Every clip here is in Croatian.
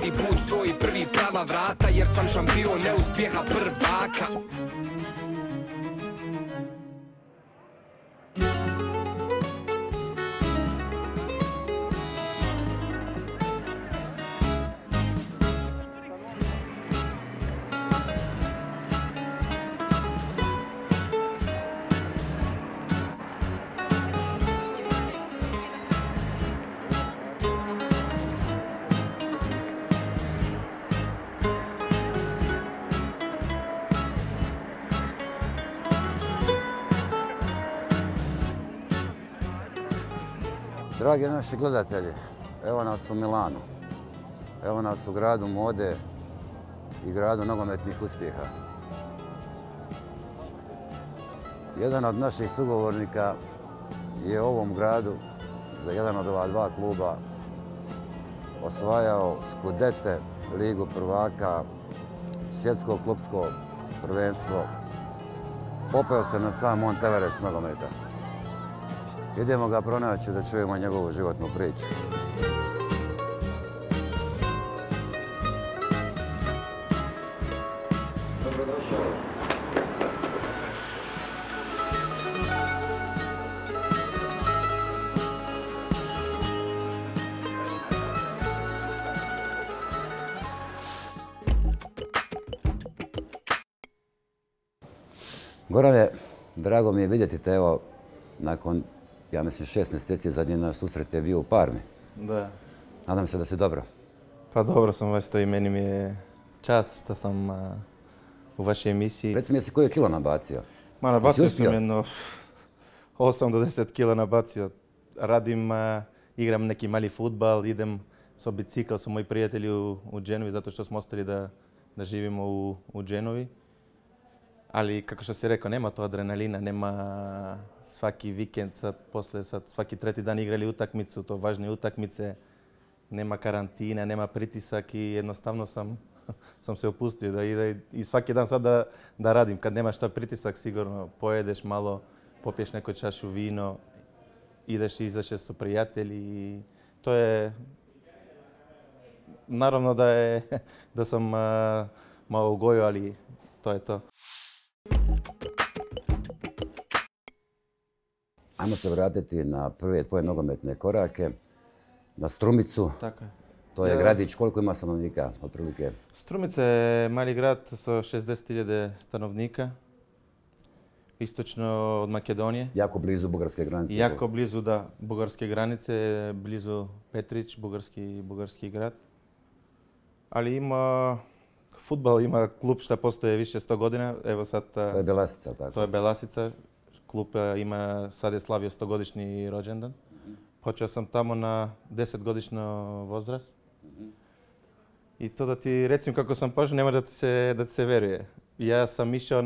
svaki put stoji prvi prava vrata, jer sam šampion neuspjeha prvaka. Dragi naši gledatelji, evo nas u Milanu, evo nas u gradu mode i gradu nogometnih uspjeha. Jedan od naših sugovornika je u ovom gradu za jedan od ova dva kluba osvajao Skudete, Ligu prvaka, svjetsko klupsko prvenstvo. Popeo se na sam Mont Everest nogometa. Idemo ga pronaći da čujemo njegovu životnu priču. Dobrodošao. Gorane, drago mi je vidjeti te, evo, nakon, ja mislim, 6 mjeseci zadnji naš susret je bio u Parmi. Da. Nadam se da si dobro. Pa dobro sam vas to i meni mi je čast što sam u vašoj emisiji. Reci mi, jesi koje kilo nabacio? Ma nabacio sam jedno 8 do 10 kila nabacio. Radim, igram neki mali futbal, idem sa bicikl su moji prijatelji u Genovi zato što smo ostali da živimo u Genovi. Ali, kako što si rekao, nema to adrenalina, nema svaki vikend, posle svaki treti dan igrali utakmicu, to važne utakmice, nema karantina, nema pritisak i jednostavno sam se opustio da ide i svaki dan sad da radim. Kad nemaš šta pritisak, sigurno pojedeš malo, popiješ neku čašu vino, ideš i izašeš su prijatelji i to je... Naravno da sam malo ugojio, ali to je to. Ajmo se vratiti na prve tvoje nogometne korake, na Strumicu. Tako je. To je gradić, koliko ima stanovnika, otprilike? Strumica je mali grad sa 60.000 stanovnika, istočno od Makedonije. Jako blizu bugarske granice. Jako blizu, da, bugarske granice, blizu Petrić, bugarski grad. Ali ima fudbal, ima klub što postoje više 100 godina. Evo sad... To je Belasica, tako? To je Belasica. Klub ima, sad je slavio 100-godišnji rođendan. Počeo sam tamo na 10-godišnji возраст. I to da ti recim kako sam počeo, nema da ti se veruje. Ja sam išao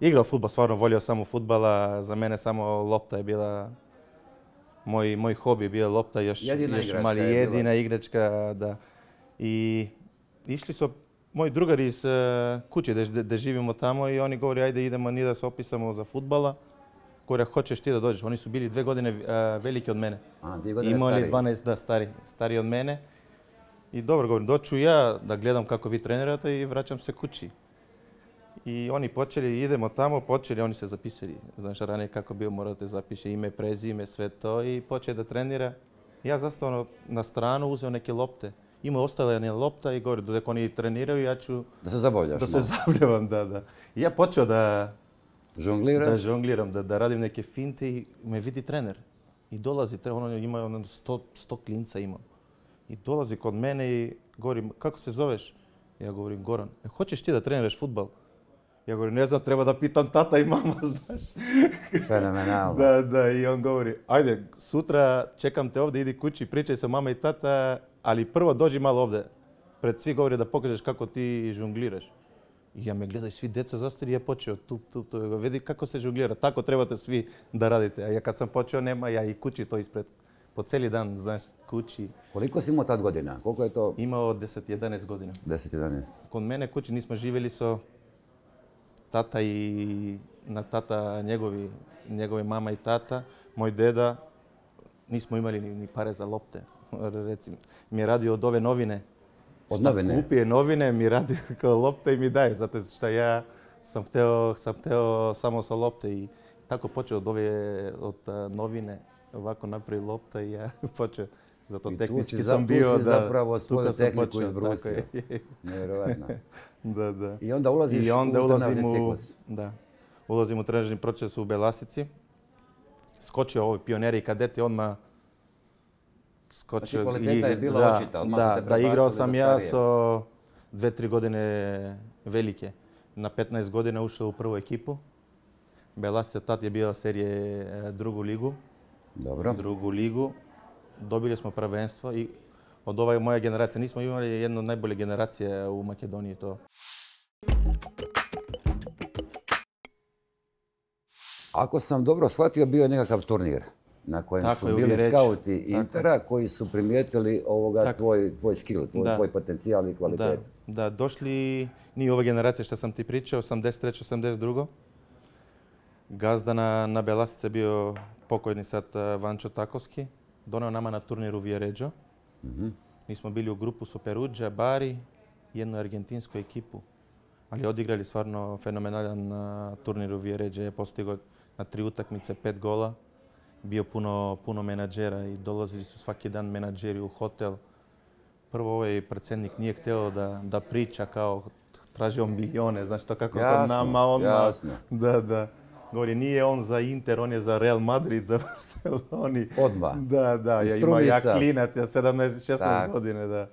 igrao fudbal, stvarno volio samo fudbala. Za mene samo lopta je bila... Moj hobi je bio lopta, još mali, jedina igračka, da. I išli su moji drugari iz kuće da živimo tamo i oni govori ajde idemo ni da se opisamo za fudbala. Govori, hoćeš ti da dođeš? Oni su bili 2 godine veliki od mene. A, 2 godine imali stariji? 12, da, stariji od mene. I dobro, govorim, doću ja da gledam kako vi trenirate i vraćam se kući. I oni počeli, idemo tamo, oni se zapisali. Znaš, ranije kako bio, morate zapiše ime, prezime, sve to i počeo da trenira. Ja zastavno na stranu uzeo neke lopte. Ima ostala jedna lopta i govori, dok oni treniraju, ja ću... Da se zabavljaš? Da se zabavljavam, da. I ja počeo da žongliram, da radim neke finte i me vidi trener. I dolazi, on ima 100 klinca imao. I dolazi kod mene i govori, kako se zoveš? Ja govorim, Goran. Hoćeš ti da treniraš fudbal? Ja govorim, ne znam, treba da pitam tata i mama, znaš. Fenomenalno. Da, i on govori, ajde, sutra čekam te ovdje, idi kući, pričaj sa mama i tata, ali prvo dođi malo ovdje. Pred svi govori da pokažeš kako ti žongliraš. I ja me gledaju, svi djeca zastari, ja počeo tu. Vidi kako se žonglira, tako trebate svi da radite. A ja kad sam počeo, nema, ja i kući to ispred. Po cijeli dan, znaš, kući. Koliko si imao tad godina? Koliko je to? Imao 10-11 godina. 10-11. Kod mene kući nismo živjeli so tata i na tata njegove mama i tata. Moj deda, nismo imali ni pare za lopte. Recimo, mi je radio od ove novine Od novine? Kupije novine, mi radi kao lopte i mi daje, zato što ja sam hteo samo sa lopte i tako počeo od novine, ovako napravi lopta i ja počeo. Zato tehnički sam bio tu si zapravo svoju tehniku izbrusio. Nevjerovatno. Da. I onda ulaziš u trenažni ciklus. Da. Ulazim u trenažni proces u Belasici. Skočio ovi pioneri i kadeti odmah skočio. Znači kvaliteta je bila očita, odmah ste te prebacili za starije. Igrao sam ja sa 2-3 godine velike. Na 15 godina ušao u prvu ekipu. Belasica tad je bio serije drugu ligu. Dobro. Drugu ligu. Dobili smo prvenstvo i od ove moje generacije nismo imali jednu od najbolje generacije u Makedoniji to. Ako sam dobro shvatio, bio je nekakav turnir na kojem su bili skauti Intera koji su primijetili tvoj skill, tvoj potencijal i kvalitetu. Da, došli ni ova generacija što sam ti pričao, 83. 82. Gazda na Belasice je bio pokojni sad Vančo Takovski. Doneo nama na turniru Vijeređo. Mi smo bili u grupu su Peruđa, Bari i jednu argentinsku ekipu. Ali odigrali stvarno fenomenalan turnir u Vijeređe. Je postigao na 3 utakmice 5 gola. Bio puno menadžera i dolazili su svaki dan menadžeri u hotel. Prvo ovaj predsjednik nije htio da priča kao tražio milijone, znaš to kako kod nama odmah. Jasno. Da. Govori, nije on za Inter, on je za Real Madrid, za Barceloni. Odmah. Da, ja klinac, ja 17-16 godine, da.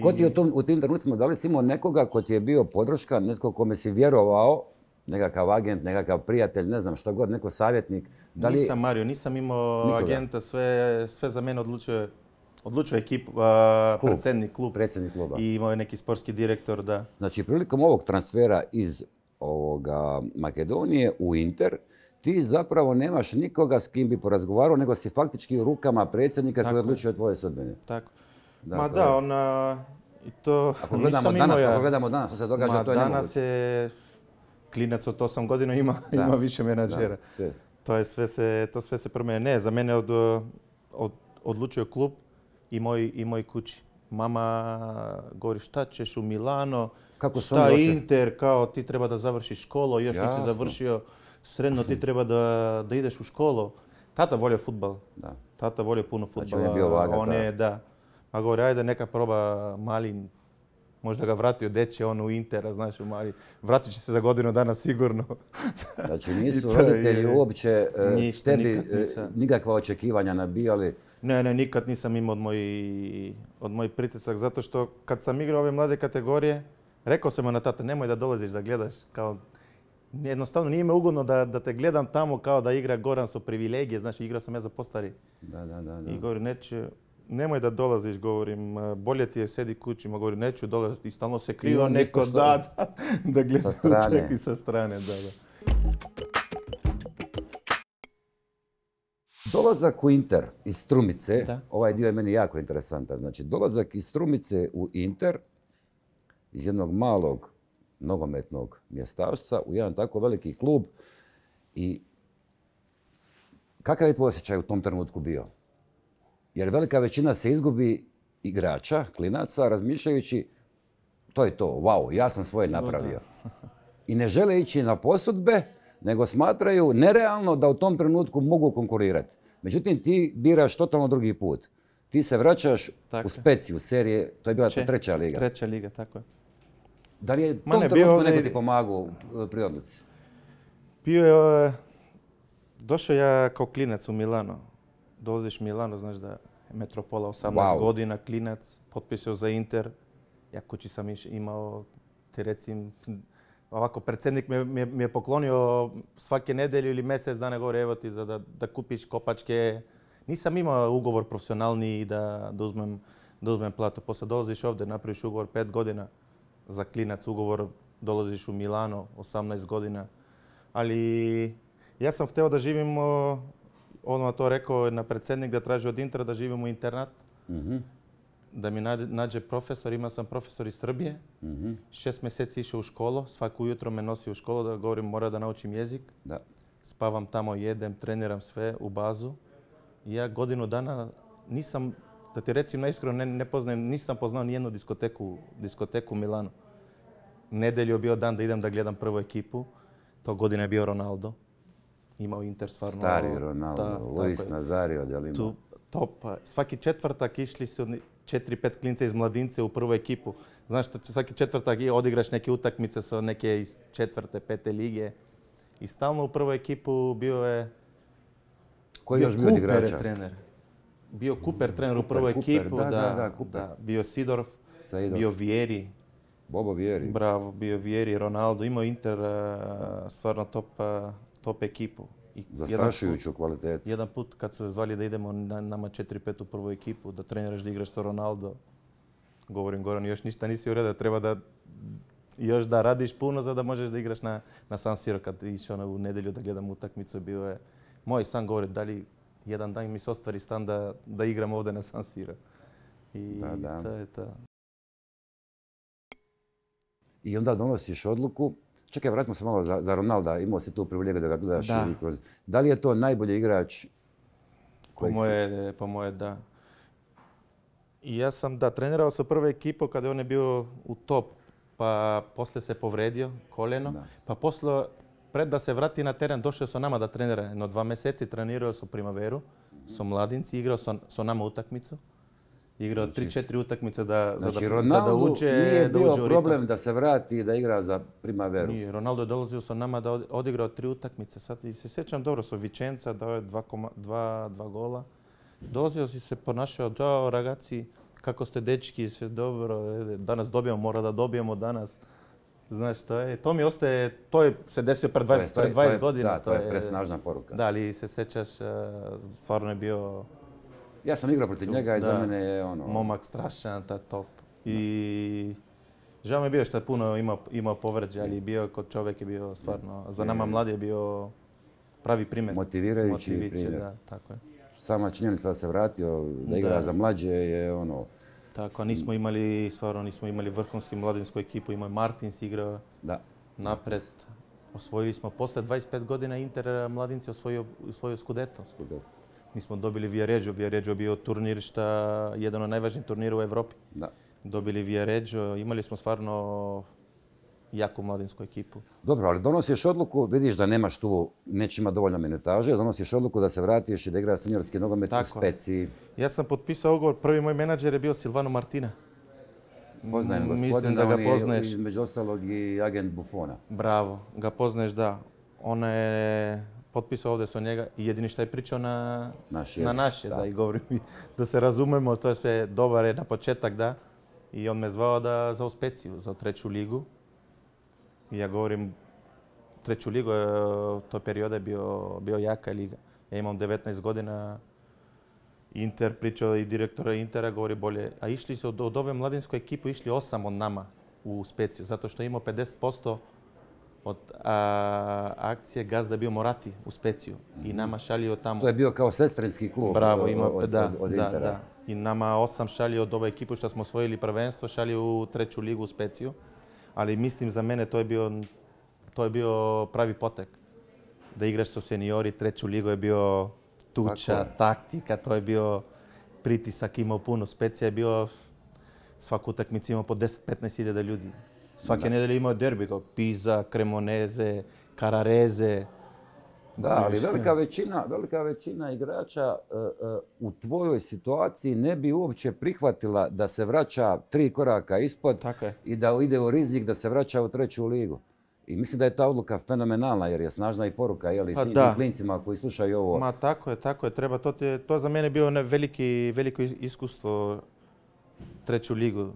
Ko ti je u tim trenucima, da li si imao nekoga ko ti je bio podrška, netko kome si vjerovao, nekakav agent, nekakav prijatelj, ne znam što god, neko savjetnik? Nisam Mario, nisam imao agenta, sve za mene odlučuje ekipu, predsjednik kluba. I imao je neki sportski direktor, da. Znači, prilikom ovog transfera iz Makedonije u Inter, ti zapravo nemaš nikoga s kim bi porazgovarao, nego si faktički u rukama predsjednika koji odlučuje tvoje sudbine. Tako. I to ako gledamo danas što se događa, to je nemoguće. Danas je klinac od 8 godina ima više menadžera. To sve se promijene. Ne, za mene odlučuje klub i moj kući. Mama govori šta ćeš u Milano, šta Inter, kao ti treba da završiš školu, još nisi završio srednjo, ti treba da ideš u školu. Tata volio fudbal. Tata volio puno fudbala. Znači on je bio vaga. Da. Ma govori, ajde neka proba mali, možda ga vratio deče on u Intera, znaš, u mali. Vratit će se za godinu dana sigurno. Znači nisu roditelji uopće tebi nikakva očekivanja nabijali? Ne, nikad nisam imao od mojih pritisak, zato što kad sam igrao ove mlade kategorije, rekao sam na tata, nemoj da dolaziš da gledaš, kao jednostavno nije me ugodno da te gledam tamo kao da igra Goran su privilegije, znači igrao sam ja za postari. Da. I govori, nemoj da dolaziš, govorim, bolje ti je sedi kući, govori, neću dolaziti i stalno se krio neko da gleda čak i sa strane. Dolazak u Inter iz Strumice, ovaj dio je meni jako interesantan. Znači, dolazak iz Strumice u Inter, iz jednog malog nogometnog mjestašca u jedan tako veliki klub. I kakav je tvoj osjećaj u tom trenutku bio? Jer velika većina se izgubi igrača, klinaca, razmišljajući to je to, wow, ja sam svoje napravio. I ne žele ići na posudbe, nego smatraju nerealno da u tom trenutku mogu konkurirati. Međutim, ti biraš totalno drugi put. Ti se vraćaš u Speci, u serije, to je bila treća liga. Treća liga, tako je. Da li je u tom trenutku neko ti pomagao pri odluci? Došao ja kao klinac u Milano. Dolaziš u Milano, znaš da je metropola 18 godina, klinac, potpisao za Inter. Ja kući sam imao, ti recim, ovako, predsjednik mi je poklonio svake nedelju ili mjesec dana, govori, evo ti da kupiš kopačke. Nisam imao ugovor profesionalni da uzmem platu. Poslije dolaziš ovdje, napraviš ugovor 5 godina za klinac, ugovor, dolaziš u Milano, 18 godina. Ali ja sam htio da živimo, odmah to rekao na predsjednik da traži od Intera da živimo u internat. Da mi nađe profesor, imao sam profesor iz Srbije. 6 mjeseci išao u školu, svako ujutro me nosi u školu da govorim mora da naučim jezik. Spavam tamo, jedem, treniram sve u bazu. I ja godinu dana nisam Da ti recim naiskreno, ne poznajem, nisam poznao nijednu diskoteku u Milanu. Nedelju je bio dan da idem da gledam prvu ekipu. To godine je bio Ronaldo. Imao Inter stvarno... Stari Ronaldo, Luis Nazario, da li ima? Top. Svaki četvrtak išli su 4-5 klinca iz mladince u prvu ekipu. Znaš, svaki četvrtak odigraš neke utakmice sa neke iz 4., 5. lige. I stalno u prvu ekipu bio je... Koji još bio od igrača? Trener. Bio Cooper trener u prvu ekipu. Da, bio Sidorf, bio Vieri. Bobo Vieri. Bravo, bio Vieri, Ronaldo. Imao Inter stvarno top ekipu. Zastrašujuću kvalitetu. Jedan put kad su zvali da idemo nama 4-5 u prvu ekipu, da treniraš da igraš sa Ronaldo. Govorim, Goran, još ništa nisi uredio, treba da još da radiš puno za da možeš da igraš na San Siro. Kad išao u nedjelju da gledam utakmicu, bio je moj san, govori, da li jedan dan mi se ostvari stan da igram ovdje na San Siro. I to je to. I onda donosiš odluku. Čekaj, vratimo se malo za Ronalda. Imao si tu privilegiju da ga gledaš. Da li je to najbolji igrač? Po moje da. I ja sam trenirao sa prvu ekipu kada on je bio u top. Pa poslije se povredio koljeno. Pa poslije, pred da se vrati na teren, došao sa nama da trenira. Jedno 2 mjeseci trenirao su Primaveru, su mladinci, igrao sa nama utakmicu. Igrao 3-4 utakmice da uđe u ritam. Ronaldo nije bio problem da se vrati i da igra za Primaveru. Nije, Ronaldo je dolazio sa nama da odigrao 3 utakmice. Sad se sjećam dobro, su Vicenza dao je 2 gola. Dolazio si se ponašao, dao ragazzi, kako ste dečki, sve dobro, danas dobijemo, mora da dobijemo danas. Znaš, to mi ostaje, se desio pred 20 godina. Da, to je presnažna poruka. Da, ali se sjećaš, stvarno je bio... Ja sam igrao protiv njega i za mene je ono... Momak strašan, top. I žao mi je bio što je puno imao povređe, ali bio kod čovjek je bio stvarno, za nama mladi je bio pravi primjer. Motivirajući primjer. Da, tako je. Sama činjenica da se vratio, da igra za mlađe je ono... Tako, nismo imali vrhunsku mladinsku ekipu, imao je Martins igrao napred. Osvojili smo, posle 25 godina Inter mladinci osvojio Scudetto. Nismo dobili Viareggio. Viareggio je bio turnir jedan od najvažnijih turnira u Evropi. Dobili Viareggio, imali smo stvarno jaku mladinsku ekipu. Dobro, ali donosiš odluku, vidiš da nemaš tu, neće imati dovoljno minutaže, donosiš odluku da se vratiš i da igraš seniorski nogomet u Speciji. Ja sam potpisao ugovor, prvi moj menadžer je bio Silvano Martina. Poznajem gospodina, on je između ostalog i agent Buffona. Bravo, ga poznaješ, da. On je potpisao ovdje sa njega i jedini što je pričao na naše, da, i govorim da se razumemo, to je sve dobar je na početak, da. I on me zvao za u Speciju, za 3. ligu. I ja govorim, 3. ligu, to perioda je bio jaka liga. Ja imam 19 godina, Inter pričao i direktora Intera, govori bolje. A išli su od ove mladinskoj ekipu, išli 8 od nama u Speciju, zato što je imao 50% od akcije gazda je bio Morati u Speciju i nama šalio tamo... To je bio kao sestrinski klub. Bravo, od Intera. Da. I nama 8 šalio od ove ekipu što smo osvojili prvenstvo, šalio u 3. ligu u Speciju. Ali mislim za mene to je bio pravi potek. Da igraš sa seniori, 3. ligu je bio tuča, taktika, to je bio pritisak, imao puno. Specija je bio, svaku utakmicu imao po 10-15 hiljada ljudi. Svake nedelje imao derbi, kao Pisa, Cremonese, Carrarese. Da, ali velika većina igrača u tvojoj situaciji ne bi uopće prihvatila da se vraća 3 koraka ispod i da ide u rizik da se vraća u 3. ligu. I mislim da je ta odluka fenomenalna jer je snažna i poruka svim klincima koji slušaju ovo. Ma tako je, treba. To za mene bilo veliko iskustvo 3. ligu.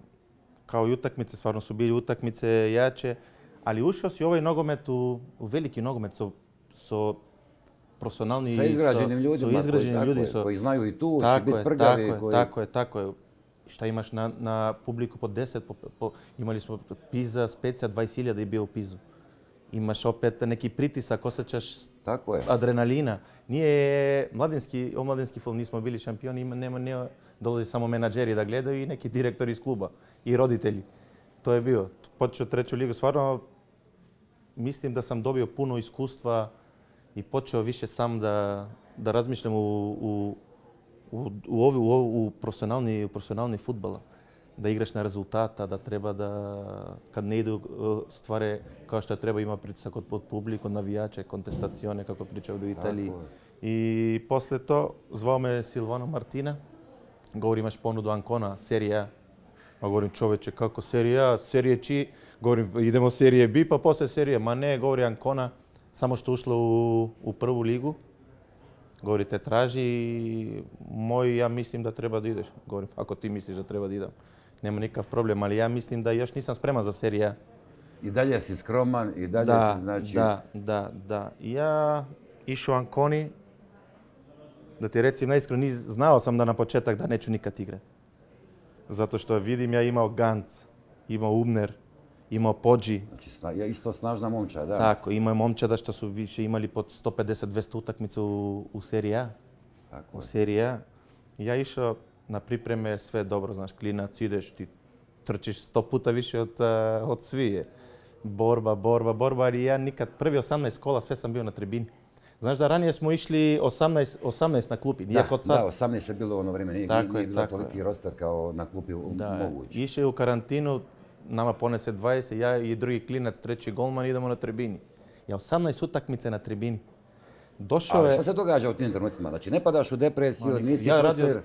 Kao i utakmice, stvarno su bili utakmice jače, ali ušao si u ovaj nogomet, u veliki nogomet, su profesionalni, sa izgrađenim ljudima koji znaju i tu, će biti prgavi. Tako je. Šta imaš na publiku po 10, imali smo Pisa, Specija, 20.000 je bio u Pizu. Imaš opet neki pritisak, osjećaš adrenalina. Nije omladinski film, nismo bili šampioni, dolazi samo menadžeri da gledaju i neki direktori iz kluba i roditelji. To je bio. Počeo 3. ligu, stvarno mislim da sam dobio puno iskustva i počeo više sam da razmišljam u u profesionalni futbala. Da igraš na rezultata, da treba da, kad ne idu stvari kao što treba, ima pritisak od publiku, navijače, kontestacione, kako pričaju u Italiji. I posle to zvao me Silvano Martina. Govori, imaš ponudu Ancona, serija A. Ma govorim, čoveče, kako serija A, serije Či? Govorim, idemo serije B, pa posle serije. Ma ne, govori Ancona, samo što ušla u prvu ligu. Govori, te traži i ja mislim da treba da ideš. Govorim, ako ti misliš da treba da idem, nema nikakav problem, ali ja mislim da još nisam spreman za seriju A. I dalje si skroman, i dalje si znači... Da. Ja išao Anconi, da ti recim naiskreno, znao sam da na početak da neću nikad igrati. Zato što vidim, ja imao Gantz, imao Ubner, imao Poggi. Znači, isto snažna momčad, da. Tako, imao momčada što su više imali pod 150-200 utakmica u seriji A. Tako u seriji A. Ja išao na pripreme, sve dobro, znaš, klinac, ideš, ti trčiš 100 puta više od svije. Borba, ali ja nikad, prvi 18 kola, sve sam bio na tribini. Znaš da ranije smo išli 18 na klupi, nije kod sad. Da, 18 je bilo u ono vrijeme, nije bilo toliki roster kao na klupi mogući. Išao je u karantinu, nama ponese 20, ja i drugi klinac, treći golman, idemo na tribini. Ja 18 utakmice na tribini. Ali što se događa u tim trenucima? Znači ne padaš u depresiju, nisi frustriran?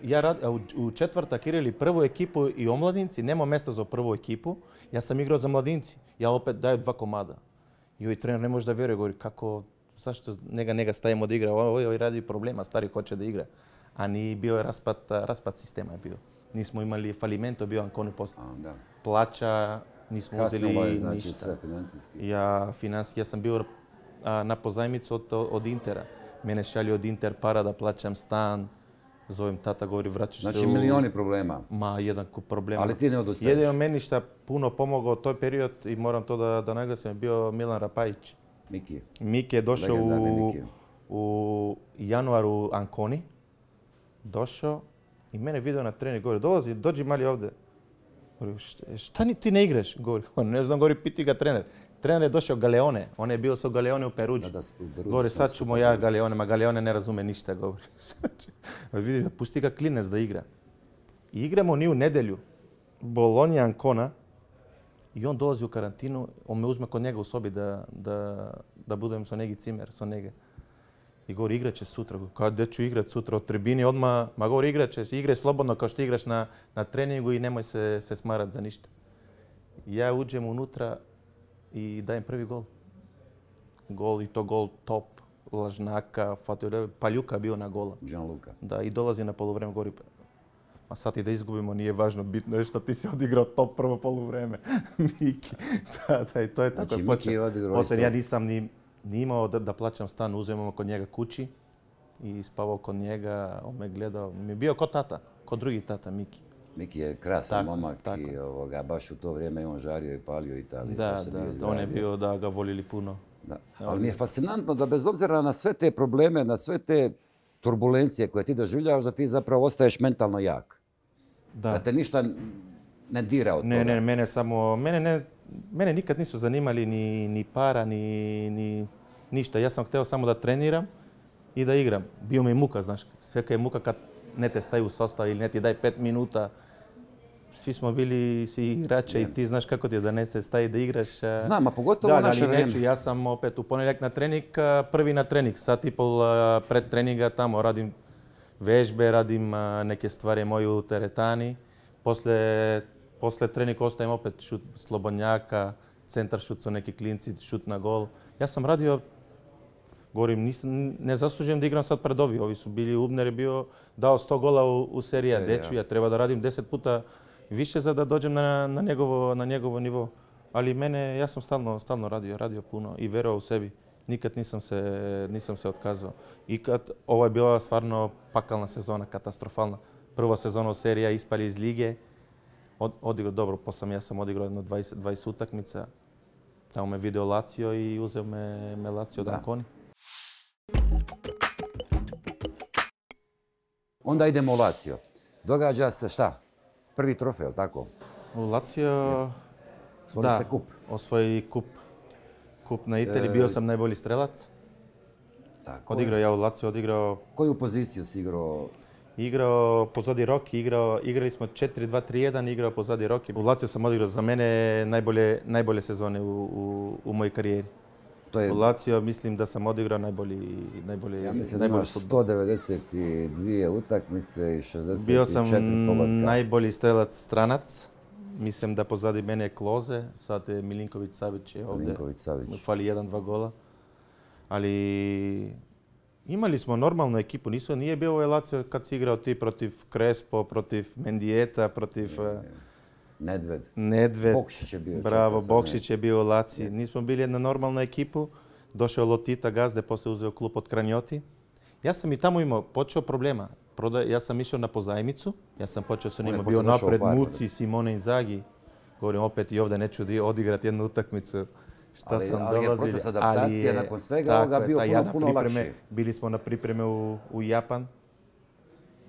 U četvrtak igrali prvu ekipu i omladinci, nema mjesta za prvu ekipu. Ja sam igrao za mladinci, ja opet daju 2 komada. I trener ne može da vjeruje, govori kako, zašto njega stavimo da igra, ovo radi problema, stari hoće da igra. A ni bio je raspad sistema je bio. Nismo imali falimento, bio Anconi posle. Plaća, nismo uzeli ništa. Ja sam bio na pozajmicu od Intera. Mene šalju od Inter para da plaćam stan. Zovem tata, govori vraćaš se Znači milioni problema. Ma, jedan kup problema. Ali ti ne odustaješ. Jedino meni šta puno pomogao toj period i moram to da naglasim, je bio Milan Rapajić. Miki je došao u januaru Anconi. Došao i mene video na trening, govori, dođi mali ovdje. Govori, šta ti ne igraš? Govori, ne znam, govori, piti ga trener. Trener je došao Galeone, on je bio sa Galeone u Peruđi. Govori, sad ću ja Galeone, ma Galeone ne razume ništa, govori. Vidi, pusti ga klinec da igra. I igramo ni u nedjelju. Bologna Ancona. I on dolazi u karantinu, on me uzme kod njega u sobi da budem sa neki cimer, sa njega. I govori, igrat će sutra. Kada ću igrat sutra od tribini odmah? Ma govori, igrat će, igraj slobodno kao što igraš na treningu i nemoj se smarat za ništa. Ja uđem unutra i dajem prvi gol. Gol i to gol top, Lažnaka, Paljuka bio na gola. Gianluca. Da, i dolazi na poluvreme, govori, ma sad i da izgubimo nije važno, bitno je što ti si odigrao top prvo poluvreme. Miki. Da, i to je tako. Znači, Miki je odigrao poslije ja nisam ni imao da plaćam stan, uzemamo kod njega kući i spavao kod njega, on me gledao. Mi je bio kod tata, kod drugi tata, Miki. Miki je krasan momak i baš u to vrijeme on žario i palio Italiju. Da, on je bio da ga volili puno. Ali mi je fascinantno da bez obzira na sve te probleme, na sve te turbulencije koje ti doživljavaš, da ti zapravo ostaješ mentalno jak. Da te ništa ne dira od toga. Ne, mene nikad nisu zanimali ni para, ni ništa. Ja sam htio samo da treniram i da igram. Bio mi muka, znaš. Sveka je muka kad ne te staju u sastav ili ne ti daj 5 minuta. Svi smo bili svi igrači i ti znaš kako ti je da ne te stavi da igraš. Znam, a pogotovo u naše vrijeme. Ja sam opet u ponedjeljak na trening, prvi na trening. Sat i pol pred treninga tamo radim vežbe, radim neke stvari moje u teretani. Posle treninga ostajem opet šut slobodnjaka, centar šut su neki klinci, šut na gol. Ja sam radio, govorim, ne zaslužujem da igram sad pred ovi su bili, Ubner je bio dao 100 gola u seriji A, deču, ja treba da radim 10 puta više za da dođem na njegovo nivo. Ali ja sam stalno radio puno i verovao u sebi. Nikad nisam se otkazao. I ovo je bila stvarno pakalna sezona, katastrofalna. Prva sezona u seriji A, ispali iz lige. Odigrao dobro, ja sam odigrao jedno 20 utakmica. Tamo me video Lazio i uzeo me Lazio od Anconi. Onda idemo u Lazio. Događa se šta? Prvi trofej, je li tako? U Lazio, da, osvoji kup. Kup na Italiji, bio sam najbolji strelac. Odigrao ja u Lazio, odigrao... Koju poziciju si igrao? igrao pozadi Roki, igrali smo 4-2-3-1, igrao pozadi Roki. U Lazio sam odigrao za mene najbolje sezone u mojoj karijeri. U Lazio mislim da sam odigrao najbolje. Ja mislim da imaš 192 utakmice i 64 Bio sam pogotka. najbolji strelac stranac. Mislim da pozadi mene je Kloze, sad je Milinković Savić je ovdje. Mu fali 1-2 gola. Ali imali smo normalnu ekipu. Nije bio ovaj Lazio kad si igrao ti protiv Crespo, protiv Mendieta, protiv Nedved. Bokšić je bio. Bravo, Bokšić je bio u Laziji. Nismo bili jedna normalna ekipu. Došao Lotita gazde, poslije uzeo klub od Kranjoti. Ja sam i tamo imao počeo problema. Ja sam išao na pozajmicu. Ja sam počeo sa njima, bio napred Muci, Simone Inzaghi. Govorim opet i ovdje neću odigrati jednu utakmicu. Ali je proces adaptacije nakon svega ovoga bio puno lakši. Bili smo na pripreme u Japan.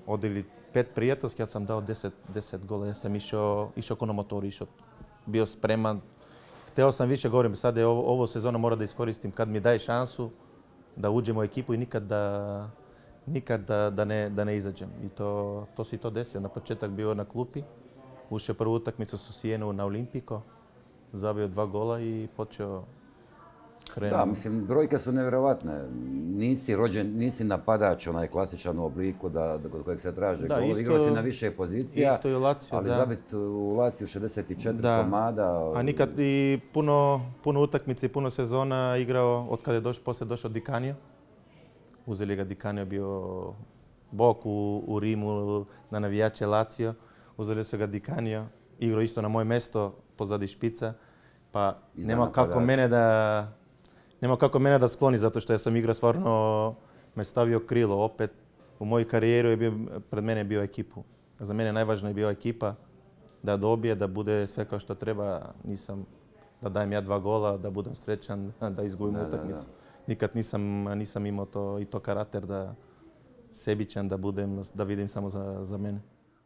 Odigli 5 prijateljskih, ja sam dao 10 gola. Ja sam išao ko na motoru, bio spreman. Hteo sam više, govorim, sad je ovo sezona mora da iskoristim kad mi daje šansu da uđem u ekipu i nikad da ne izađem. I to se i to desilo. Na početak bio na klupi, ušao prvu utakmicu su Sijenu na Olimpiko, zabio 2 gola i počeo krenuti. Da, mislim, brojke su nevjerovatne. Nisi napadač onaj klasičan u obliku kod kojeg se traže gol. Igrao si na više pozicija, isto i u Lazio, ali zabit u Laziju 64 komada. A nikad i puno utakmice i puno sezona igrao od kada je poslije došao Di Canio. Uzeli ga Di Canio, bio bok u Rimu na navijače Lazio. Uzeli su ga Di Canio, igrao isto na moje mjesto pozadi špica. Pa nema kako mene da skloni, zato što ja sam igrao stvarno, me stavio krilo. Opet u mojoj karijeri pred mene je bio ekipu. Za mene najvažnija je bila ekipa, da dobije, da bude sve kao što treba. Da dajem ja 2 gola, da budem srećan, da izgubim utakmicu. Nikad nisam imao to karakter da sebičan, da vidim samo za mene.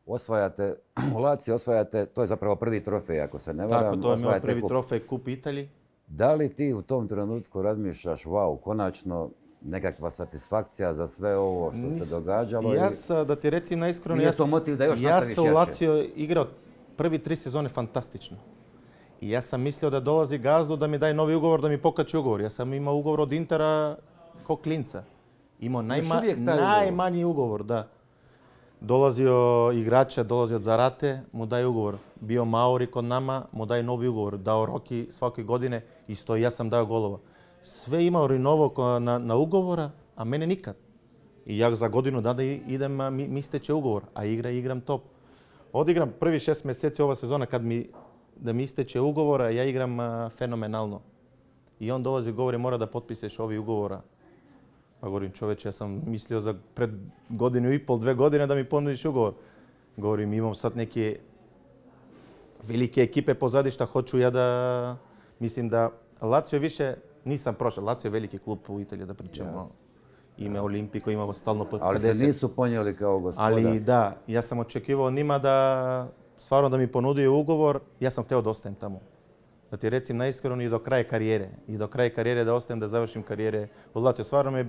Osvajate, u Lazio osvajate, to je zapravo prvi trofej, ako se ne varam. Tako, to je moj prvi trofej, Kup Italiji. Da li ti u tom trenutku razmišljaš, wow, konačno nekakva satisfakcija za sve ovo što se događalo? Da ti recim naiskreno, nije to motiv da još nastaviš jače? Ja sam u Lazio igrao prvi 3 sezone fantastično. I ja sam mislio da dolazi Gazdu da mi daje novi ugovor, da mi pokače ugovor. Ja sam imao ugovor od Intera ko klinca. Imao najmanji ugovor, da. Dolazio igrača, dolazio od Zarate, mu daje ugovor. Bio Mauri kod nama, mu daje novi ugovor. Dao Roki svake godine, isto i ja sam dao golova. Sve imao Rinovo na ugovora, a mene nikad. I ja za godinu dana idem, mi isteče ugovor, a igram top. Odigram prvi 6 mjeseci ova sezona da mi isteče ugovora, ja igram fenomenalno. I on dolazi i govori mora da potpišeš ovi ugovora. Pa govorim čoveče, ja sam mislio za pred 1,5, 2 godine da mi ponudiš ugovor. Govorim imam sad neke velike ekipe pozadi šta hoću ja da... Mislim da Lazio više nisam prošao. Lazio je veliki klub u Italiji da pričamo. Ime Olimpiko, imamo stalno po 50. Ali se nisu ponijeli kao gospoda. Ali da, ja sam očekivao njima da stvarno da mi ponudio ugovor, ja sam htio da ostajem tamo. Da ti recim naiskreno i do kraja karijere. I do kraja karijere da ostajem, da završim karijere u Lazio. Stvarno mi je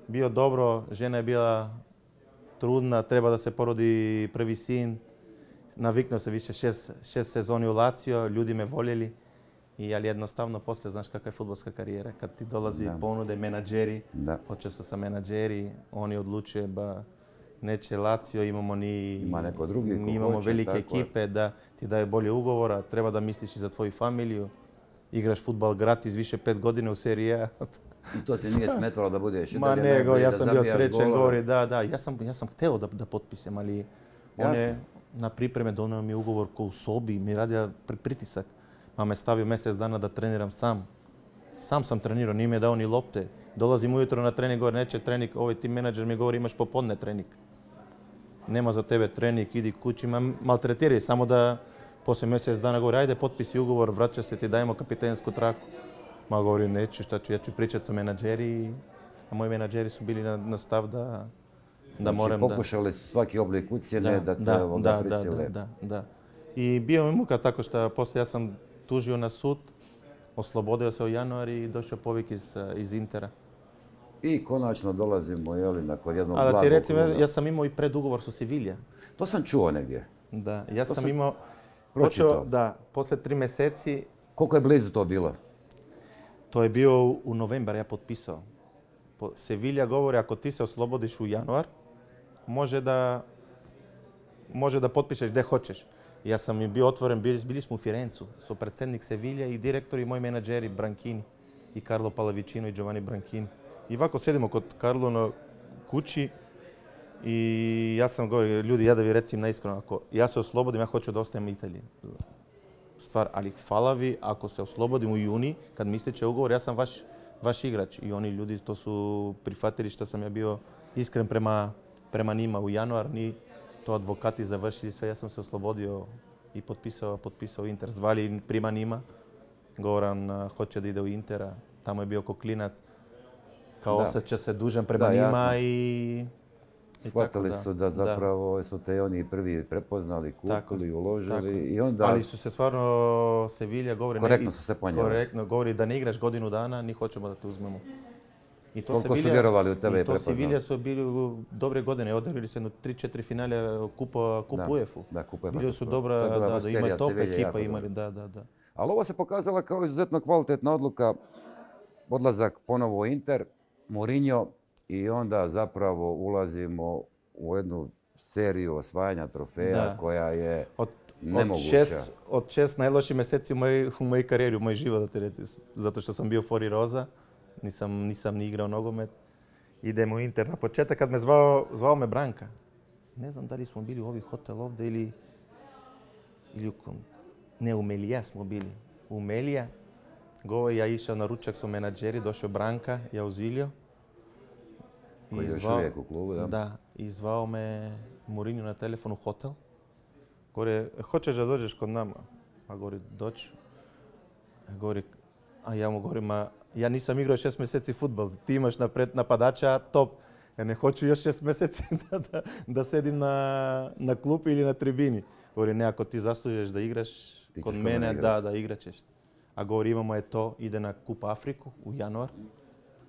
bio dobro, žena je bila trudna, treba da se porodi prvi sin. Naviknuo se više 6 sezoni u Lazio, ljudi me voljeli. Ali jednostavno poslije, znaš kakva je fudbalska karijera. Kad ti dolazi ponude, menadžeri, počeo su sa menadžeri, oni odlučuje ba neće Lazio, imamo imamo velike ekipe da ti daje bolje ugovora, treba da misliš i za tvoju familiju, igraš fudbal gratis više 5 godina u seriji A. I to ti nije smetalo da budeš i dalje najbolji, ja sam bio srećen, govori da, ja sam hteo da potpisam, ali on je na pripreme donio mi ugovor ko u sobi, mi radio pritisak. Pa me stavio mjesec dana da treniram sam. Sam sam trenirao, nije mi je dao ni lopte. Dolazim ujutro na trening, govori neće trening, ovaj tim menadžer mi govori imaš popodne trening. Nema za tebe trening, idi kući, maltretiraj, samo da poslije mjesec dana govori ajde potpisi ugovor, vraća se ti, dajemo kapitensku traku. Ma govori neću, šta ću, ja ću pričati sa menadžeri, a moji menadžeri su bili na stav da moram da... Pokušali su svaki oblik ucjene da te ovoga prisile. Da. I bio mi muka tako što poslije ja sam tužio na sud, oslobodio se u januari i došao povik iz Intera. I konačno dolazimo nakon jednog A da blagog ti recim, kruga. ja sam imao i predugovor su Sevilla. To sam čuo negdje. Da, ja sam sam imao... pročitao. Da, poslije 3 mjeseci, Koliko je blizu to bilo? to je bio u novembar, ja potpisao. Sevilla govori, ako ti se oslobodiš u januar, može da potpišeš gdje hoćeš. Ja sam im bio otvoren, bili smo u Firencu, su predsjednik Sevilla i direktori i moji menadžeri Branchini i Carlo Pallavicino i Giovanni Branchini. I ovako sjedimo kod Carlo na kući i ja sam govorio, ljudi, ja da vi recim naiskreno, ako ja se oslobodim, ja hoću da ostajem u Italiji. Stvar, ali hvala vi, ako se oslobodim u juni, kad mi ističe ugovor, ja sam vaš igrač. I oni ljudi to su prihvatili što sam ja bio iskren prema njima u januar, ni to advokati završili sve, ja sam se oslobodio i potpisao Inter. Zvali prima njima, Goran hoće da ide u Intera, tamo je bio ko klinac, kao osjeća se dužan prema njima i shvatili su da zapravo su te oni prvi prepoznali, kupili, uložili i onda... Ali su se stvarno, Sevilla govori... Korektno su se ponijeli. Korektno, govori da ne igraš godinu dana, ni hoćemo da te uzmemo. Koliko su vjerovali u tebe i prepoznali? Sevilla su bili dobre godine, odigrali se 3-4 finale kupa UEFA-u. Da, kupa UEFA. Bili su dobra, da imaju top ekipa, imali, da. Ali ovo se pokazala kao izuzetno kvalitetna odluka, odlazak ponovo u Inter, Mourinho, i onda zapravo ulazimo u jednu seriju osvajanja trofeja koja je nemoguća. Od 6 najloših mjeseci u mojoj karijeri, u moj život, da ti reći, zato što sam bio Fori Roza, nisam ni igrao nogomet. Idemo u Inter. Na početak kad me zvao me Branka. Ne znam da li smo bili u ovih hotel ovdje ili ne, u Melija smo bili. U Melija. Ja išao na ručak su menadžeri, došao Branka, ja uzilio. Koji je još uvijek u klubu, da? Da, i zvao me Mourinho na telefon u hotel. Govori, hoćeš da dođeš kod nama? A govori, doći. A ja mu govorim, ja nisam igrao 6 mjeseci fudbal, ti imaš napadača top. Ja ne hoću još 6 mjeseci da sedim na klupi ili na tribini. Govori, ne, ako ti zaslužeš da igraš kod mene, da igraćeš. A govori, imamo je to, ide na Kup Afriku u januar.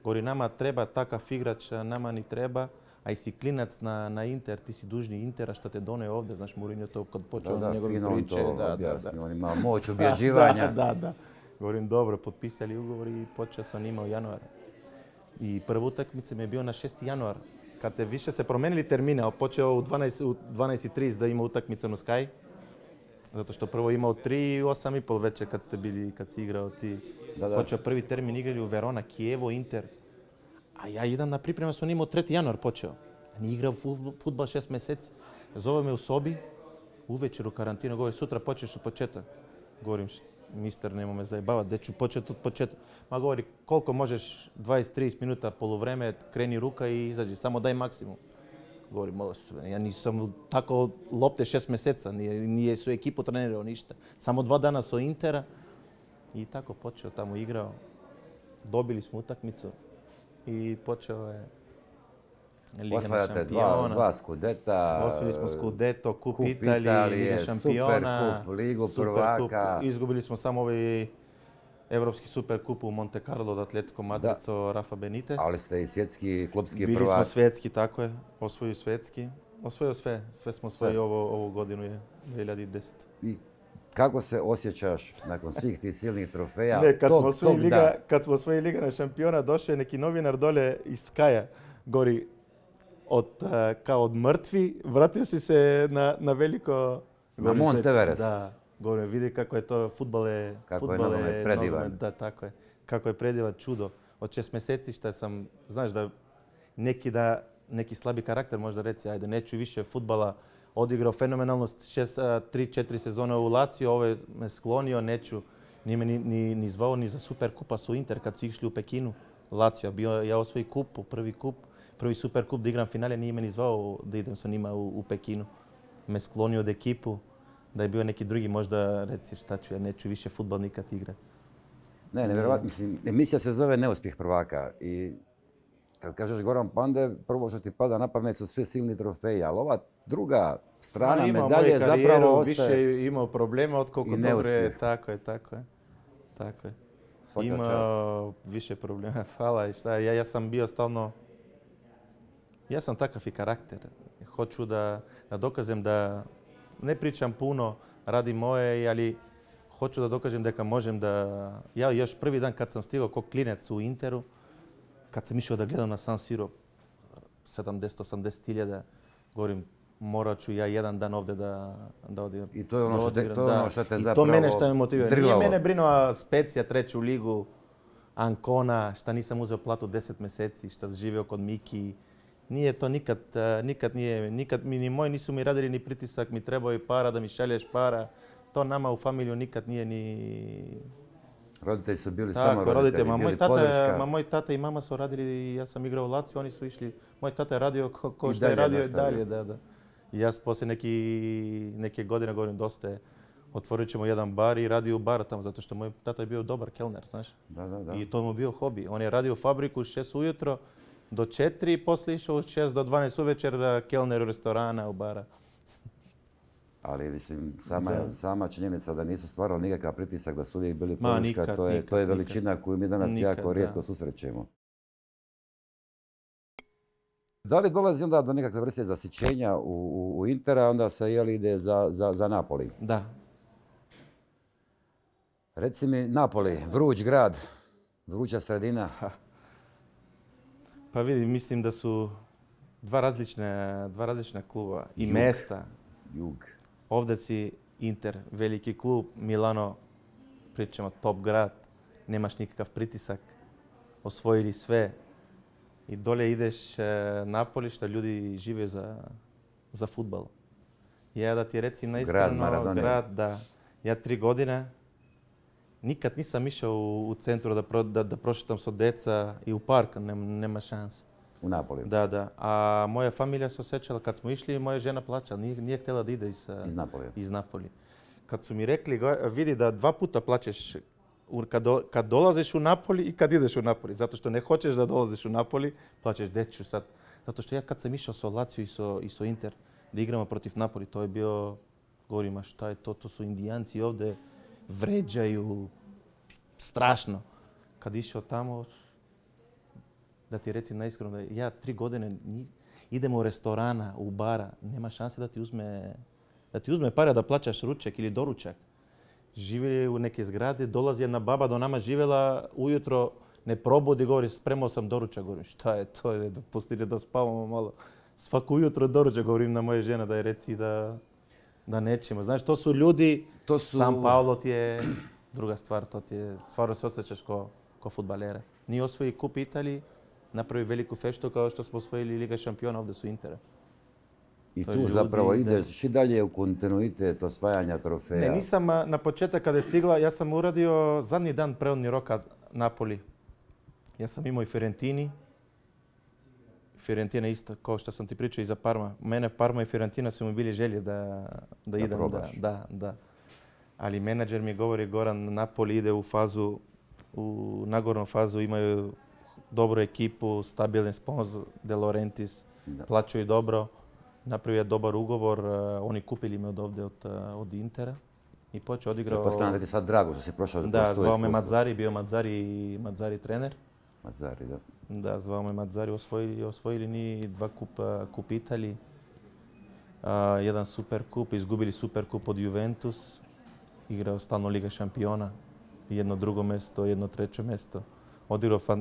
Govori, nama treba takav igrač, nama ni treba, a i si klinac na Inter, ti si dužni Intera što te donio ovdje, znaš, Mourinho to kad počeo njegove priče. On ima moć ubjeđivanja. Da. Govorim, dobro, potpisali ugovor i počeo sam njima u januaru. I prva utakmica mi je bio na 6. januar, kad se više se promenili termine, a počeo u 12:30 da ima utakmica na Sky, zato što prvo imao 3 i 8:30 večer kad si igrao ti. Počeo prvi termin, igrali u Verona, Kijevo, Inter. A ja idem na priprema, sam imao 3. januar počeo. Nije igrao fudbal 6 mjeseci. Zove me u sobi, uvečer u karantinu, govori, sutra počeš od početka. Govorim, mister, nemoj me zajebavati, gdje ću početi od početka. Ma govori, koliko možeš, 20-30 minuta, poluvreme, kreni ruka i izađi, samo daj maksimum. Govorim, ja nisam tako lopte 6 mjeseca, nije su ekipu trenirao ništa. Samo 2 dana su Intera i tako počeo, tamo igrao. Dobili smo utakmicu i počeo je Liga šampiona. Osvajate 2 skudeta. Osvojili smo skudeto, Kup Italije, Liga šampiona, Superkup, Ligu prvaka. Izgubili smo samo ovaj Evropski superkup u Monte Carlo od Atletico Madrido, Rafa Benitez. Ali ste i svjetski klubski prvaci. Bili smo svjetski, tako je. Osvojio svjetski. Osvojio sve. Sve smo osvojili ovu godinu je 2010. I kako se osjećaš nakon svih tih silnih trofeja? Ne, kad smo osvojili Liga šampiona, došao je neki novinar dole iz Skaja. Gori, kao od mrtvi, vratio si se na veliko... Na Mont Everest. Da. Govorim, vidi kako je to, fudbal je predivan. Da, tako je. Kako je predivan, čudo. Od 6 mjeseci što sam, znaš da neki slabi karakter možda reci, ajde, neću više fudbala, odigrao fenomenalno 3-4 sezone u Lazio, ovo me sklonio, neću, nije me ni zvao ni za Superkupa su Inter kad su išli u Pekinu. Lazio, ja osvoji kup, prvi Superkup da igram finale, nije me ni zvao da idem sa njima u Pekinu. Me sklonio od ekipu. Da je bio neki drugi, možda reci šta ću, ja neću više fudbal nikad igrati. Ne, nevjerovatno. Mislim, emisija se zove Neuspjeh prvaka i kad kažeš Goran Pandey, prvo što ti pada na pamet su sve silni trofeji, ali ova druga strana medalje zapravo ostaje... Više imao problema od koliko dobre, tako je. Svaka čast. Ima više problema. Hvala. I šta, ja sam bio stalno... Ja sam takav i karakter. Hoću da dokažem da ne pričam puno, radim moje, ali hoću da dokažem da možem da... Ja još prvi dan kad sam stigao kao klinec u Interu, kad sam išao da gledam na San Siro 70-80 hiljada, govorim, morat ću ja jedan dan ovdje da odigram. I to je ono što te zapravo to mene što me motivira. Nije drlavo. mene brinula Specija, 3. ligu, Ancona, šta nisam uzeo platu 10 mjeseci, šta živio kod Miki. Nije to nikad mi ni moji nisu mi radili ni pritisak, mi trebao je para da mi šalješ para. To nama u familiju nikad nije ni... Roditelji su bili samo roditelji, roditelji. bili podrška. Moj tata i mama su radili, ja sam igrao u Lazio, oni su išli, moj tata je radio ko što je radio i dalje. Da. I ja poslije neke godine govorim dosta je, otvorit ćemo jedan bar i radio u baru tamo, zato što moj tata je bio dobar kelner, znaš. Da. I to mu bio hobi. On je radio u fabriku 6 ujutro do 4 i poslije išao od 6 do 12 uvečer da kelner u restorana, u bara. Ali mislim, sama činjenica da nisu stvarali nikakav pritisak, da su uvijek bili podrška, to je veličina koju mi danas jako rijetko susrećemo. Da li dolazi onda do nekakve vrste zasićenja u Intera, onda se ide za Napoli? Da. Reci mi, Napoli, vruć grad, vruća sredina. Pa vidi, mislim da su dva različna kluba i mesta. Jug. Ovdje si Inter, veliki klub, Milano, pričamo top grad, nemaš nikakav pritisak, osvojili sve. I dolje ideš Napoli što ljudi žive za fudbal. Ja da ti recim naiskreno, grad, da ja 3 godine nikad nisam išao u centru da prošetam sa deca i u park, nema šanse. U Napoli? Da. A moja familija se osjećala, kad smo išli, moja žena plaćala, nije htjela da ide iz Napoli. Kad su mi rekli, vidi da 2 puta plaćeš kad dolaziš u Napoli i kad ideš u Napoli. Zato što ne hoćeš da dolaziš u Napoli, plaćeš deću sad. Zato što ja kad sam išao sa Lazio i sa Inter, da igramo protiv Napoli, to je bio, govorim, a šta je to? To su Indijanci ovdje, vređaju, strašno. Kad išao tamo, da ti recim naiskreno, da ja 3 godine idemo u restorana, u bara, nema šanse da ti uzme pare da plaćaš ručak ili doručak. Živjeli u neke zgrade, dolazi jedna baba do nama živjela, ujutro ne probudi, govori, spremao sam doručak. Govorim, šta je to? Dopustili da spavamo malo. Svako ujutro doručak, govorim na moje žene da je reci da nećemo. Znaš, to su ljudi, San Paolo ti je druga stvar, to ti je, stvarno se osjećaš ko fudbalere. Nije osvoji kup Italiji, napravi veliku feštu kao što smo osvojili Liga šampiona, ovdje su Intera. I tu zapravo ideš i dalje u kontinuitet osvajanja trofeja. Ne, nisam na početak kada je stigla, ja sam uradio zadnji dan preodni roka Napoli. Ja sam imao i Fiorentini. Fiorentina isto, kao što sam ti pričao i za Parma. Mene Parma i Fiorentina su mi bili želje da idem. Probaš. Da. Ali menadžer mi govori, Goran, Napoli ide u nagornu fazu, imaju dobru ekipu, stabilni sponsor, De Laurentiis, plaćaju dobro. Napravio je dobar ugovor, oni kupili me od Intera i počeo odigrao... Pretpostavljam da ti je sad drago što si prošao kroz to iskustvo. Da, zvao me Mazzari, bio Mazzari trener. Mazzari, da. Da, zvao me Mazzari, osvojili ni 2 kup Italiji, jedan super kup, izgubili super kup od Juventus, igrao stalno Liga šampiona, jedno drugo mjesto, jedno treće mjesto.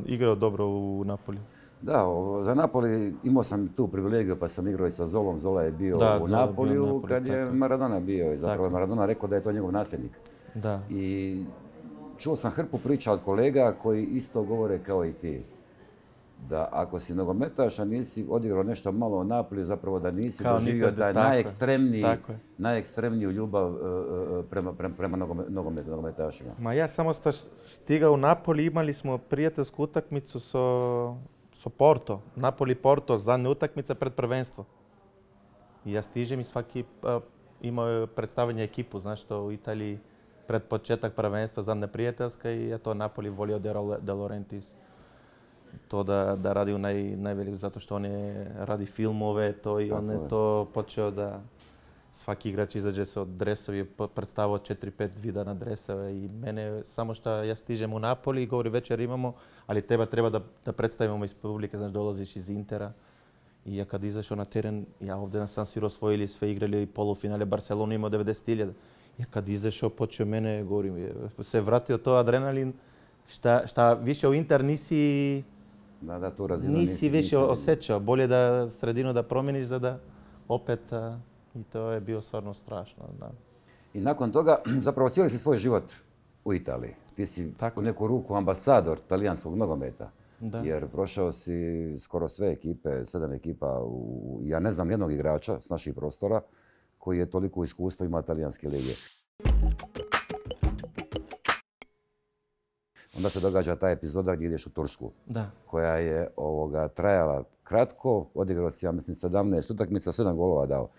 Igrao dobro u Napoli. Da, za Napoli imao sam tu privilegiju pa sam igrao i sa Zolom. Zola je bio u Napoliju kad je Maradona bio. I zapravo je Maradona rekao da je to njegov nasljednik. Da. I čuo sam hrpu priča od kolega koji isto govore kao i ti. Da ako si nogometaš, a nisi odigrao nešto malo u Napoliju, zapravo da nisi doživio taj najekstremniju ljubav prema nogometašima. Ma ja samo stigao u Napoli, imali smo prijateljsku utakmicu sa Porto, Napoli-Porto, zadnja utakmica pred prvenstvo. I ja stižem i svaki imao predstavljanje ekipu, znaš što u Italiji pred početak prvenstva, zadnja prijateljska i to Napoli volio De Laurentiis. To da radi u najveliko, zato što on radi filmove, to i on je to počeo da... svaki igrač izađe se od dresovi, predstavio 4-5 vida na dresove i mene samo što ja stižem u Napoli i govori večer imamo, ali treba da predstavimo iz publike, znaš, dolaziš iz Intera. I ja kad izašao na teren, ja ovdje na San Siro osvojili sve igrali polufinale, Barcelona imao 90.000. Ja kad izašao, počeo mene, govorim, se vratio to adrenalin, šta više u Inter nisi tu razinu nisi više osjećao. Bolje da sredinu da promijeniš za da opet, i to je bio stvarno strašno. Da. I nakon toga, zapravo cijeli si svoj život u Italiji. Ti si u neku ruku ambasador talijanskog nogometa. Da. Jer prošao si skoro sve ekipe, 7 ekipa, ja ne znam nijednog igrača s naših prostora koji je toliko iskustva ima talijanske lige. Onda se događa ta epizoda gdje ideš u Tursku, koja je trajala kratko, odigrao si, ja mislim, 17 utakmica, 7 golova dao.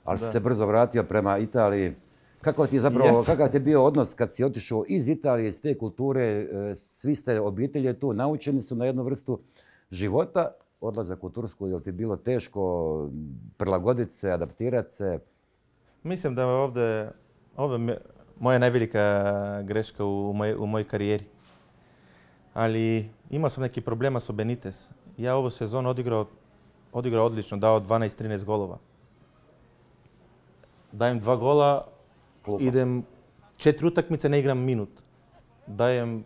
Ali si se brzo vratio prema Italiji. Kakav ti je bio odnos kad si otišao iz Italije, iz te kulture, svi ste obitelji tu, naučeni su na jednu vrstu života, odlazak u Tursku, je li ti bilo teško prilagoditi se, adaptirati se? Mislim da je ovdje moja najvelika greška u mojoj karijeri. Ali imao sam neki problema s Benitez. Ja ovu sezonu odigrao odlično, dao 12-13 golova. Dajem 2 gola, idem 4 utakmice, ne igram minut.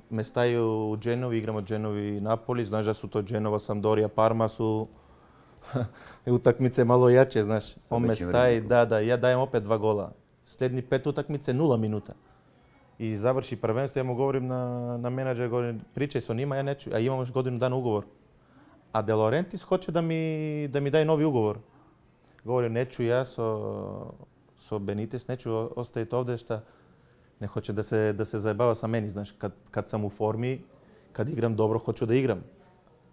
Me staju u Genovi, igram od Genovi i Napoli. Znaš da su to Genova, Sampdoria, Parma su utakmice malo jače, znaš. On me staje, ja dajem opet 2 gola. Sljednji 5 utakmice, 0 minuta. I završi prvenstvo, ja mu govorim na menadžer, govorim, pričaj s njima, ja neću, a imam još godinu dana ugovor. A De Laurentiis hoće da mi daje novi ugovor. Govorim, neću ja so Benitez, neću ostaviti ovdje šta ne hoće da se zajebava sa meni. Znaš, kad sam u formi, kad igram dobro, hoću da igram.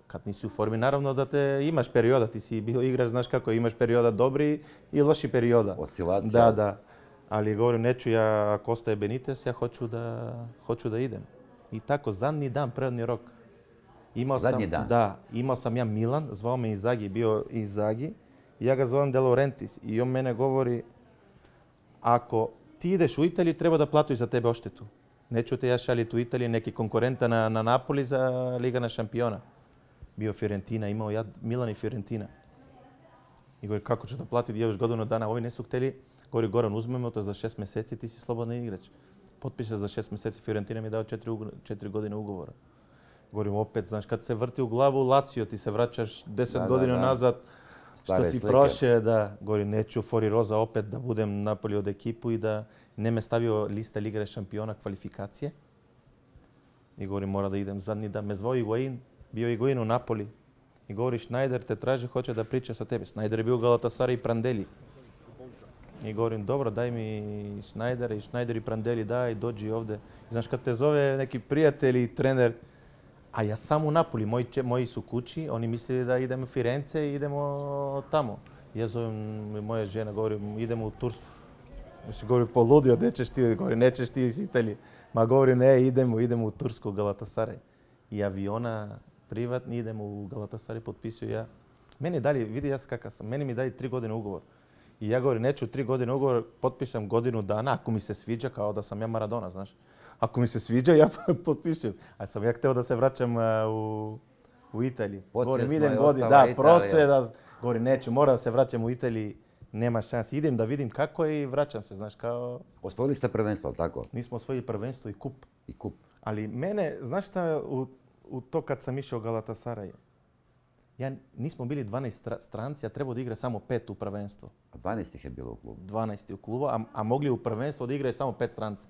Kad nisi u formi, naravno da imaš perioda, ti si bio igrač, znaš kako, imaš perioda dobri i loši perioda. Oscilacija. Da. Ali govorim, neću ja, ako ostaje Benitez, ja hoću da idem. I tako, zadnji dan, prednji rok. Zadnji dan? Da, imao sam ja Milan, zvao me Inzaghi, bio Inzaghi. Ja ga zovem De Laurentiis i on mene govori, ako ti ideš u Italiju, treba da platuš za tebe odštetu. Neću te ja šaljiti u Italiju, neki konkurenta na Napoli za Liga na šampiona. Bio Fiorentina, imao ja Milan i Fiorentina. I govori, kako ću da platiti, još godinu dana, ovi nisu htjeli. Govori, Goran, uzmemo to za 6 mjeseci, ti si slobodan igrač. Potpiše za 6 mjeseci, Fiorentina mi je dao 4 godine ugovora. Govorim, opet, znaš, kad se vrti u glavu Lazio, ti se vraćaš 10 godina nazad, što si prošao, da, govorim, neću Fori Rosa opet da budem Napoli od ekipu i da ne me stavio lista Lige šampiona kvalifikacije. I govorim, mora da idem zadnji dan. Me zvao Higuain, bio Higuain u Napoli. I govori, Schneider te traži, hoće da priča sa tebi. Schneider je bio Galatasaray i Prandelli. I govorim, dobro, daj mi Schneidera i Schneider i Prandelli, daj, dođi ovdje. Znaš, kad te zove neki prijatelj i trener, a ja sam u Napoli, moji su kući, oni mislili da idemo u Firence i idemo tamo. Ja zovem moja žena, govorim, idemo u Tursku. Mislim, govorim, poludio, gdje ćeš ti? Govorim, nećeš ti iz Italije. Ma govorim, ne, idemo u Tursku, Galatasaray. I aviona privatni, idemo u Galatasaray, potpisuju ja. Meni dalje, vidi ja kakav sam, meni mi daje 3 godine ugovor. I ja govorim, neću 3 godine ugovor, potpišem godinu dana, ako mi se sviđa, kao da sam ja Maradona, znaš. Ako mi se sviđa, ja potpisujem. A sam ja htio da se vraćam u Italiji. Govorim, idem godinu, da, govorim, neću, moram da se vraćam u Italiji, nema šanse. Idem da vidim kako je i vraćam se, znaš, kao... Osvojili ste prvenstvo, ali tako? Nismo osvojili prvenstvo i kup. I kup. Ali mene, znaš šta, u to kad sam išao u Galatasaray, nismo bili 12 stranci, a trebao da igra samo 5 u prvenstvo. A 12 ih je bilo u klubu? 12 u klubu, a mogli u prvenstvo da igraju samo 5 stranci.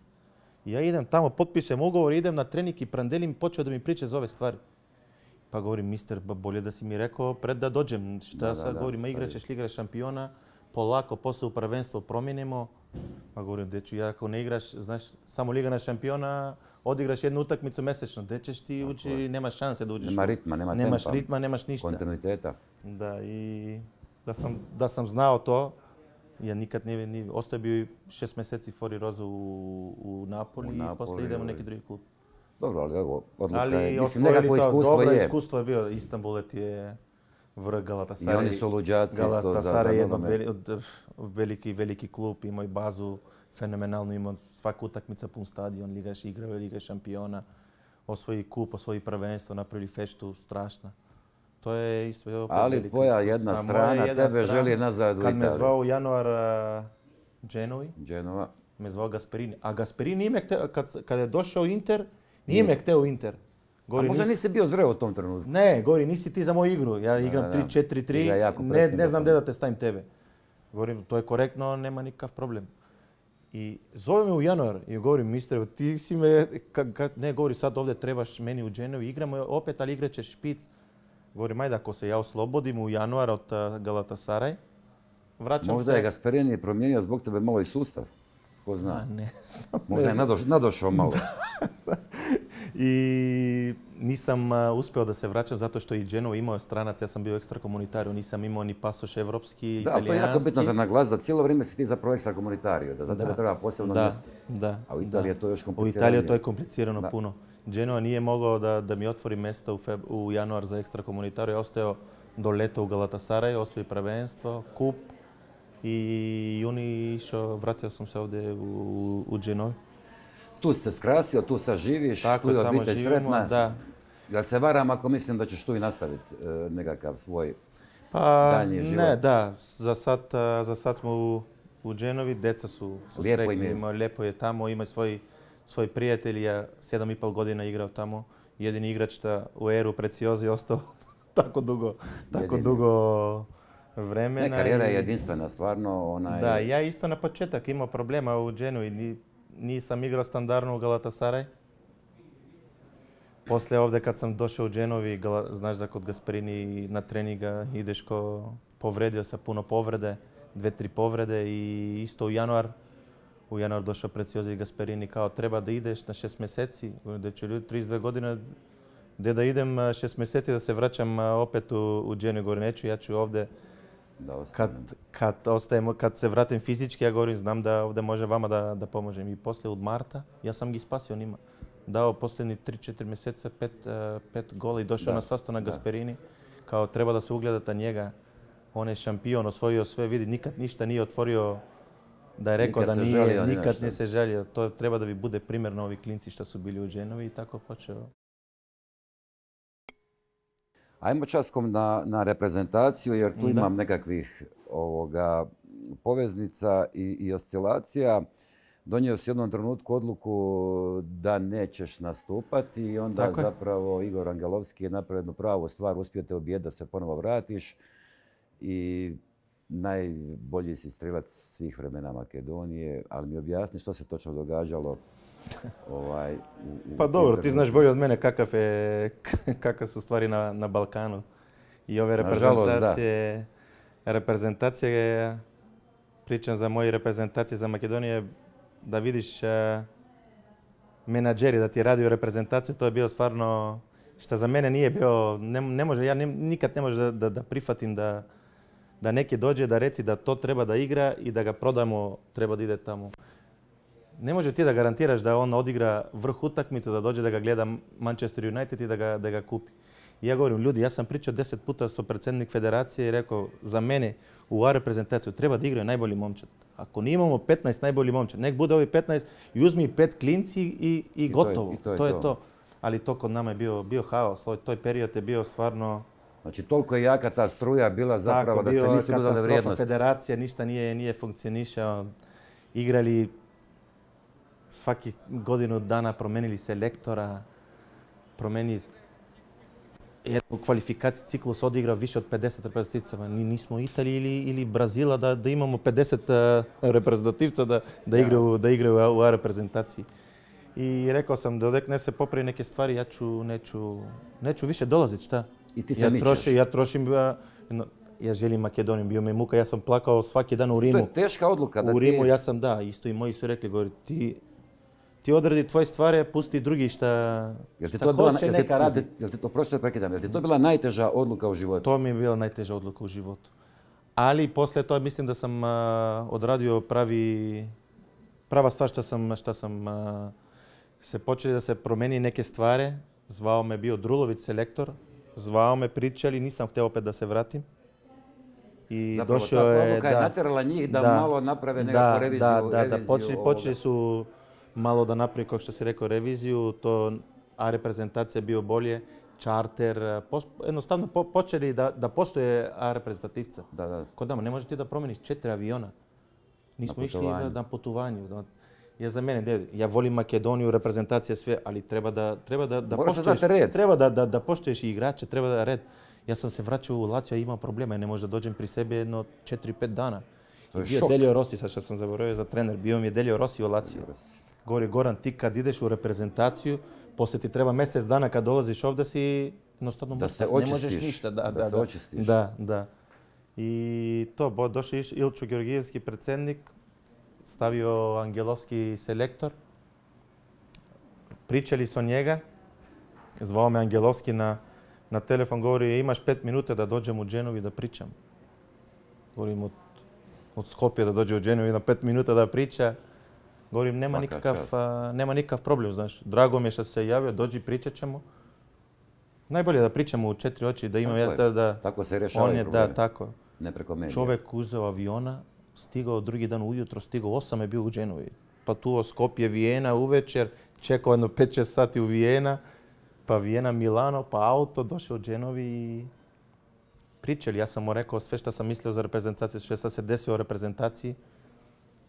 I ja idem tamo, potpišem ugovor, idem na trening i Prandelli mi počeo da mi priča za ove stvari. Pa govorim, mister, bolje da si mi rekao pred da dođem. Šta sad govorim, igraćeš Liga šampiona, polako, posle u prvenstvo promijenimo. Pa govorim, deču, ja ako ne igraš, znaš, samo Liga šampiona, odigraš jednu utakmicu mesečno. Gdje ćeš ti ući, nemaš šanse da uđeš. Nema ritma, nema tempa. Nemaš ritma, nemaš ništa. Kontinuiteta. Da, i da sam znao to, ja nikad nije, ostao bio 6 mjeseci Fori Rosa u Napoli i posle idemo u neki drugi klub. Dobro, ali evo, odluka je, mislim, nekako iskustvo je. Dobro iskustvo je bio, Istanbul je vrh I Galatasaray. oni su luđaci isto za Galatasaray je nogomet. veliki klub, imao i bazu fenomenalnu, imao svaku utakmica pun stadion, igrao je Liga šampiona, osvoji kup, osvoji prvenstvo, napravili feštu strašna. To je isto opet Ali tvoja jedna strana tebe želi nazad u Italiju. Kad me zvao u januar Genova. me zvao Gasperini. A Gasperini nije me hteo, kad je došao u Inter, nije me hteo u Inter. A možda nisi bio zreo u tom trenutku? Ne, govori, nisi ti za moju igru. Ja igram 3-4-3, ne znam gdje da te stavim tebe. Govorim, to je korektno, nema nikakav problem. I zove me u januar i govorim, mister, ti si me, ne, govori, sad ovdje trebaš meni u Genovi, igramo opet, ali igrat ćeš špic. Govorim, ajde, ako se ja oslobodim u januar od Galatasaray, vraćam se. Možda je Gasperini promijenio zbog tebe malo i sustav. Ko zna? Ne znam. Možda je nadošao malo. I nisam uspio da se vraćam zato što i Genova imao stranac, ja sam bio ekstrakomunitario, nisam imao ni pasoš evropski, italijanski. Da, to je jako bitno za naglas, da cijelo vrijeme si ti zapravo ekstrakomunitario, da za tebe treba posebno mjesto. Da. A u Italiji je to još komplicirano. U Italiji to je komplicirano puno. Genova nije mogao da mi otvori mjesto u januar za ekstrakomunitario, ostao do leta u Galatasaray, osvoji prvenstvo, kup i juni išao, vratio sam se ovdje u Genovi. Tu si se skrasio, tu sad živiš, tako, tu je obitelj sretna. Da. Ja se varam ako mislim da ćeš tu i nastaviti nekakav svoj daljnji život. Ne, da. Za sad smo u Genovi, deca su sretni, lijepo je tamo, ima svoj prijatelj, ja 7,5 godina igrao tamo. Jedini igrač u eru Preciozi ostao tako dugo vremena. Ne, karijera je jedinstvena, stvarno. Da, ja isto na početak imao problema u Genovi. Nisam igrao standardno u Galatasaray. Poslije ovdje kad sam došao u Genovi, znaš da kod Gasperini na treninga ideš povredio se puno povrede, 2-3 povrede i isto u januar došao Preciozi i Gasperini kao treba da ideš na 6 mjeseci, da ću ljudi 32 godine, gdje da idem 6 mjeseci da se vraćam opet u Genovi, govorim neću, ja ću ovdje. Kad se vratim fizički, ja govorim, znam da ovdje može vama da pomožem. I poslije od marta, ja sam ih spasio njima. Dao posljednji 3-4 mjeseca 5 gola i došao na sastanak Gasperini. Kao treba da se ugledate njega. On je šampion, osvojio sve, vidi, nikad ništa nije otvorio da je rekao da nije, nikad nije se žalio. To treba da vi bude primjer na ovi klinci što su bili u Genovi i tako počeo. Ajmo časkom na reprezentaciju jer tu imam nekakvih poveznica i oscilacija. Donio si u jednom trenutku odluku da nećeš nastupati i onda zapravo Igor Angelovski je napravio jednu pravu stvar, uspio te ubijediti da se ponovo vratiš i najbolji si strilac svih vremena Makedonije, ali mi objasni što se točno događalo. Pa dobro, ti znaš bolje od mene kakve su stvari na Balkanu. I ove reprezentacije, pričam za moje reprezentacije za Makedonije, da vidiš menadžeri da ti radi u reprezentaciju, to je bio stvarno, što za mene nije bio, ja nikad ne može da prihvatim da neki dođe da reci da to treba da igra i da ga prodamo, treba da ide tamo. Ne može ti da garantiraš da on odigra vrh utakmicu, da dođe da ga gleda Manchester United i da ga kupi. I ja govorim, ljudi, ja sam pričao 10 puta sa predsjednik federacije i rekao, za mene u A reprezentaciju treba da igraju najbolji momčad. Ako nije imamo 15 najbolji momčad, nek bude ovi 15 i uzmi 5 klinci i gotovo. To je to. Ali to kod nama je bio haos. Toj period je bio stvarno... Znači, toliko je jaka ta struja bila zapravo da se nisu dodale vrijednosti. Federacija, ništa nije funkcionišao. Igrali svaki godinu dana, promenili selektora, promenili u kvalifikaciji ciklus odigrao više od 50 reprezentativca. Nismo Italiji ili Brazila da imamo 50 reprezentativca da igraju u A reprezentaciji. I rekao sam da ne se popravi neke stvari, ja neću više dolaziti, šta? I ti se mičeš. Ja trošim, ja želim Makedoniju, bio mi muka, ja sam plakao svaki dan u Rimu. To je teška odluka. U Rimu ja sam, isto i moji su rekli, govori, ti odradi tvoje stvari, pusti drugi šta hoće, neka radi. Prosto prekidam, je li to bila najteža odluka u životu? To mi je bila najteža odluka u životu. Ali poslije to mislim da sam odradio prava stvar što sam se počeli da se promeni neke stvari. Zvao me bio Drulović, selektor, zvao me, pričali, nisam htio opet da se vratim. I Zapravo došao ta je, odluka je natjerala njih da malo naprave nekakvu reviziju. Počeli su malo da napravi, kao što si rekao, reviziju, to A reprezentacija bio bolje, čarter, jednostavno počeli da postoje A reprezentativca. Kod nama ne možeš ti da promeniš 4 aviona. Nismo išli na putovanju. Ja za mene, ja volim Makedoniju, reprezentacija sve, ali treba da poštuješ i igrače, treba da red. Ja sam se vraćao u Lazio i imao problema i ne možda dođem pri sebi jedno 4-5 dana. To je bio šok. Delio Rossi, sad što sam zaboravio za trener, bio mi je Delio Rossi u Lazio. Govori, Goran, ti kad ideš u reprezentaciju, poslije ti treba mjesec dana kad dolaziš ovdje si jednostavno mrtav, ne možeš ništa. Da se očistiš. Da. I to, došao Ilčo Georgijevski predsjednik, stavio Angelovski selektor, pričali su o njega, zvao me Angelovski na telefon, govori imaš 5 minuta da dođem u Genovi da pričam. Govorim od Skopje da dođe u Genovi na 5 minuta da priča. Govorim nema nikakav problem, znaš. Drago mi je što se javio, dođi pričat ćemo. Najbolje da pričamo u 4 oči, da imam tako se rješavaju problemi. Tako. Ne preko medija. Čovjek uzeo aviona, stigao drugi dan ujutro, stigao 8 je bio u Genovi. Pa tu Skopje, Vijena uvečer, čekao jedno 5-6 sati u Vijena, pa Vijena, Milano, pa auto, došao u Genovi i pričali. Ja sam mu rekao sve što sam mislio za reprezentaciju, sve što se desilo u reprezentaciji.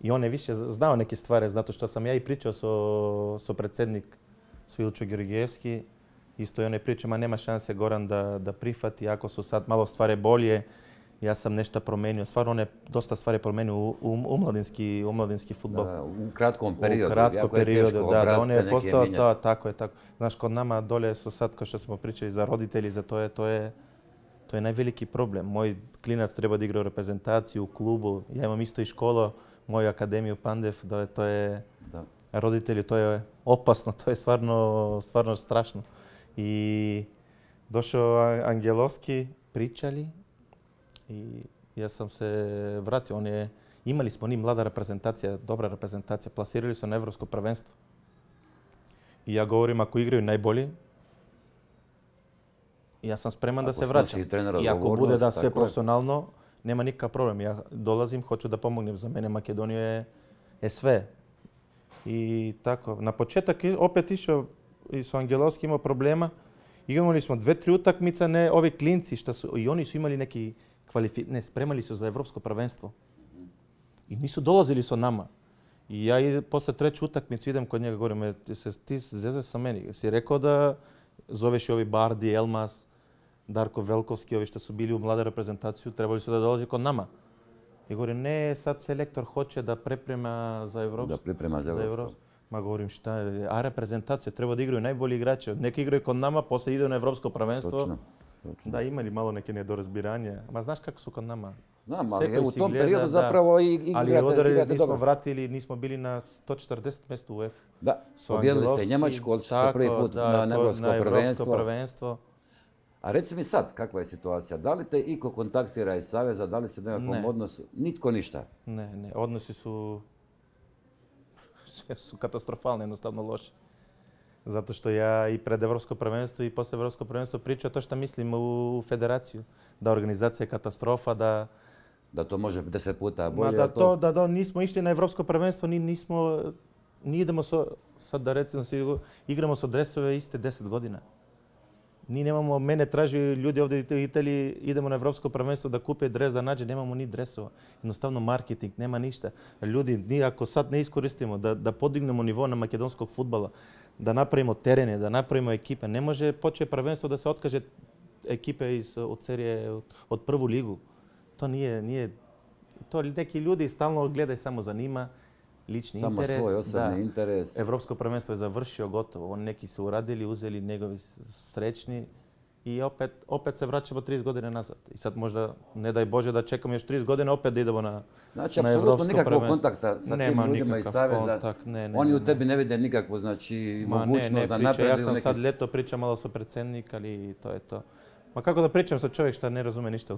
I on je više znao neke stvari, zato što sam ja i pričao so predsjednik Ilčo Georgijevski. Isto i on je pričao, ma nema šanse Goran da prihvati, ako su sad malo stvari bolje. Ja sam nešto promenio. Stvarno on je dosta stvari promenio u mladinski fudbal. U kratkom periodu. U kratkom periodu, da. On je postao, tako je. Znaš, kod nama dolje su sad, kao što smo pričali, za roditelji, za to je najveliki problem. Moj klinac treba da igra u reprezentaciju, u klubu. Ja imam isto i školu, moju akademiju Pandev, to je roditelji, to je opasno, to je stvarno strašno. I došao Angelovski, pričali i ja sam se vratio. Imali smo mlada reprezentacija, dobra reprezentacija, plasirali su na Evropsko prvenstvo. I ja govorim, ako igraju najbolji, ja sam spreman da se vraćam. I ako bude da sve profesionalno, nema nikakav problem. Ja dolazim, hoću da pomognem. Za mene Makedonija je sve. I tako, na početak opet išao i su Angelovski imao problema. Imali smo 2-3 utakmice, ne ovi klinci što su, i oni su imali neki spremali su za Evropsko prvenstvo. I nisu dolazili sa nama. I ja posle 3. utakmicu idem kod njega, govorim, ti zezeš sa meni. Si rekao da zoveš i ovi Bardi, Elmas, Darko Velkovski, ovi što su bili u mlada reprezentaciju, trebali su da dolazi kod nama. I govorim, ne, sad selektor hoće da priprema za Evropsko. Da priprema za Evropsko. Ma govorim, šta je, a reprezentacija, treba da igraju najbolji igrači. Neki igraju kod nama, posle idu na Evropsko prvenstvo. Točno. Da, imali malo neke nedorazbiranje. Ma znaš kako su kod nama? Znam, ali u tom periodu zapravo igrate dobro. Ali nismo vratili, nismo bili na 140 mjestu u UEFA. Da, pobjedili ste Njemačku, odšli ste prvi put na Evropsko prvenstvo. A reci mi sad, kakva je situacija? Da li te iko kontaktira iz Saveza, da li se u nekakvom odnosu? Nitko ništa? Ne, odnosi su katastrofalni, jednostavno loši. Zato što ja i pred Evropsko prvenstvo i posle Evropsko prvenstvo pričam to što mislim u federaciju. Da organizacija je katastrofa, da to može 10 puta bolje. Da nismo išli na Evropsko prvenstvo, ni idemo sad da recimo igramo sa dresove iste 10 godina. Mene traži ljudi ovdje u Italiji, idemo na Evropsko prvenstvo da kupe dres, da nađe, nemamo ni dresova. Jednostavno marketing, nema ništa. Ljudi, ako sad ne iskoristimo da podignemo nivo na makedonskog fudbala, da napravimo terene, da napravimo ekipe, ne može početi prvenstvo da se otkaže ekipe od serije, od prvu ligu. To nije, to neki ljudi stalno gledaju samo za njima, lični interes. Samo svoj osobni interes. Evropsko prvenstvo je završio, gotovo. Neki su uradili, uzeli njegovi srećni i opet se vraćamo 30 godine nazad. I sad možda, ne daj Bože da čekamo još 30 godina, opet da idemo na Evropsko prvenstvo. Znači, apsolutno nikakvog kontakta sa tim ljudima iz Saveza. Oni u tebi ne vide nikakvu, znači, mogućnost da napreduju neki... Ja sam sad ljeto pričam malo sa predsjednik, ali to je to. Ma kako da pričam sa čovjek što ne razume ništa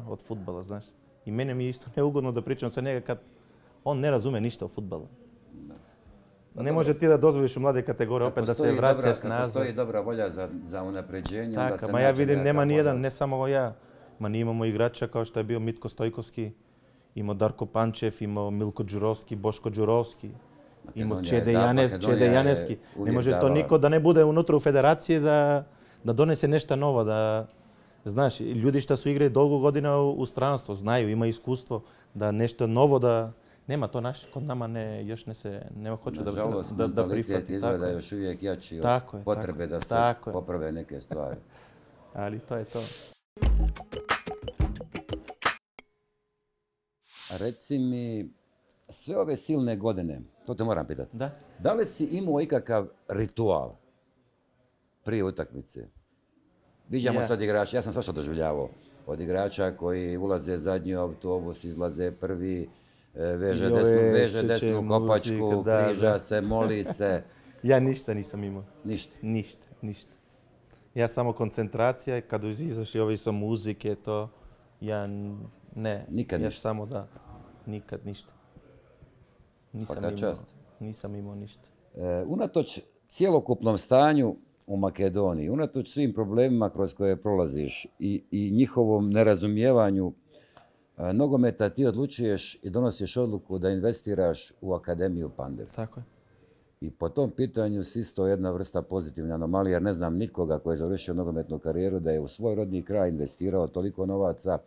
od fudbala, znaš. I mene mi je isto neugodno da pričam sa njega kad on ne razume ništa o fudbalu. Ne može ti da dozvoliš u mlade kategorije opet da se vraćaš nazad. Postoji dobra volja za unapređenje, onda se Tako, ma ja vidim, nema nijedan, model. ne samo ja. Ma mi imamo igrača kao što je bio Mitko Stojkovski, imao Darko Pančev, imao Milko Đurovski, Boško Đurovski, imao Čede Janeski. Ne može to niko da ne bude unutra u federaciji da donese nešto novo. Znaš, ljudi što su igrali dolgo godina u stranstvu, znaju, imaju iskustvo da nešto novo da... Nema to kod nama još nema hoću da prihvati. Nažalost, mentalitet izgleda još uvijek jači od potrebe da se poprave neke stvari. Ali to je to. Reci mi, sve ove silne godine, to te moram pitati. Da. Da li si imao ikakav ritual prije utakmice? Viđamo sad igrača, ja sam svašta doživljavao. Od igrača koji ulaze zadnji autobus, izlaze prvi, veže desnu kopačku, križa se, moli se. Ja ništa nisam imao. Ništa? Ništa. Ja samo koncentracija, kad izašli ovi sa muzike, to ja ne. Nikad ja ništa? Samo da, nikad ništa. Nisam imao ništa. Unatoč cjelokupnom stanju u Makedoniji, unatoč svim problemima kroz koje prolaziš i njihovom nerazumijevanju nogometa, ti odlučuješ i donosiš odluku da investiraš u Akademiju Pandev. Tako je. I po tom pitanju si isto jedna vrsta pozitivne anomalije, jer ne znam nikoga koji je završio nogometnu karijeru da je u svoj rodni kraj investirao toliko novaca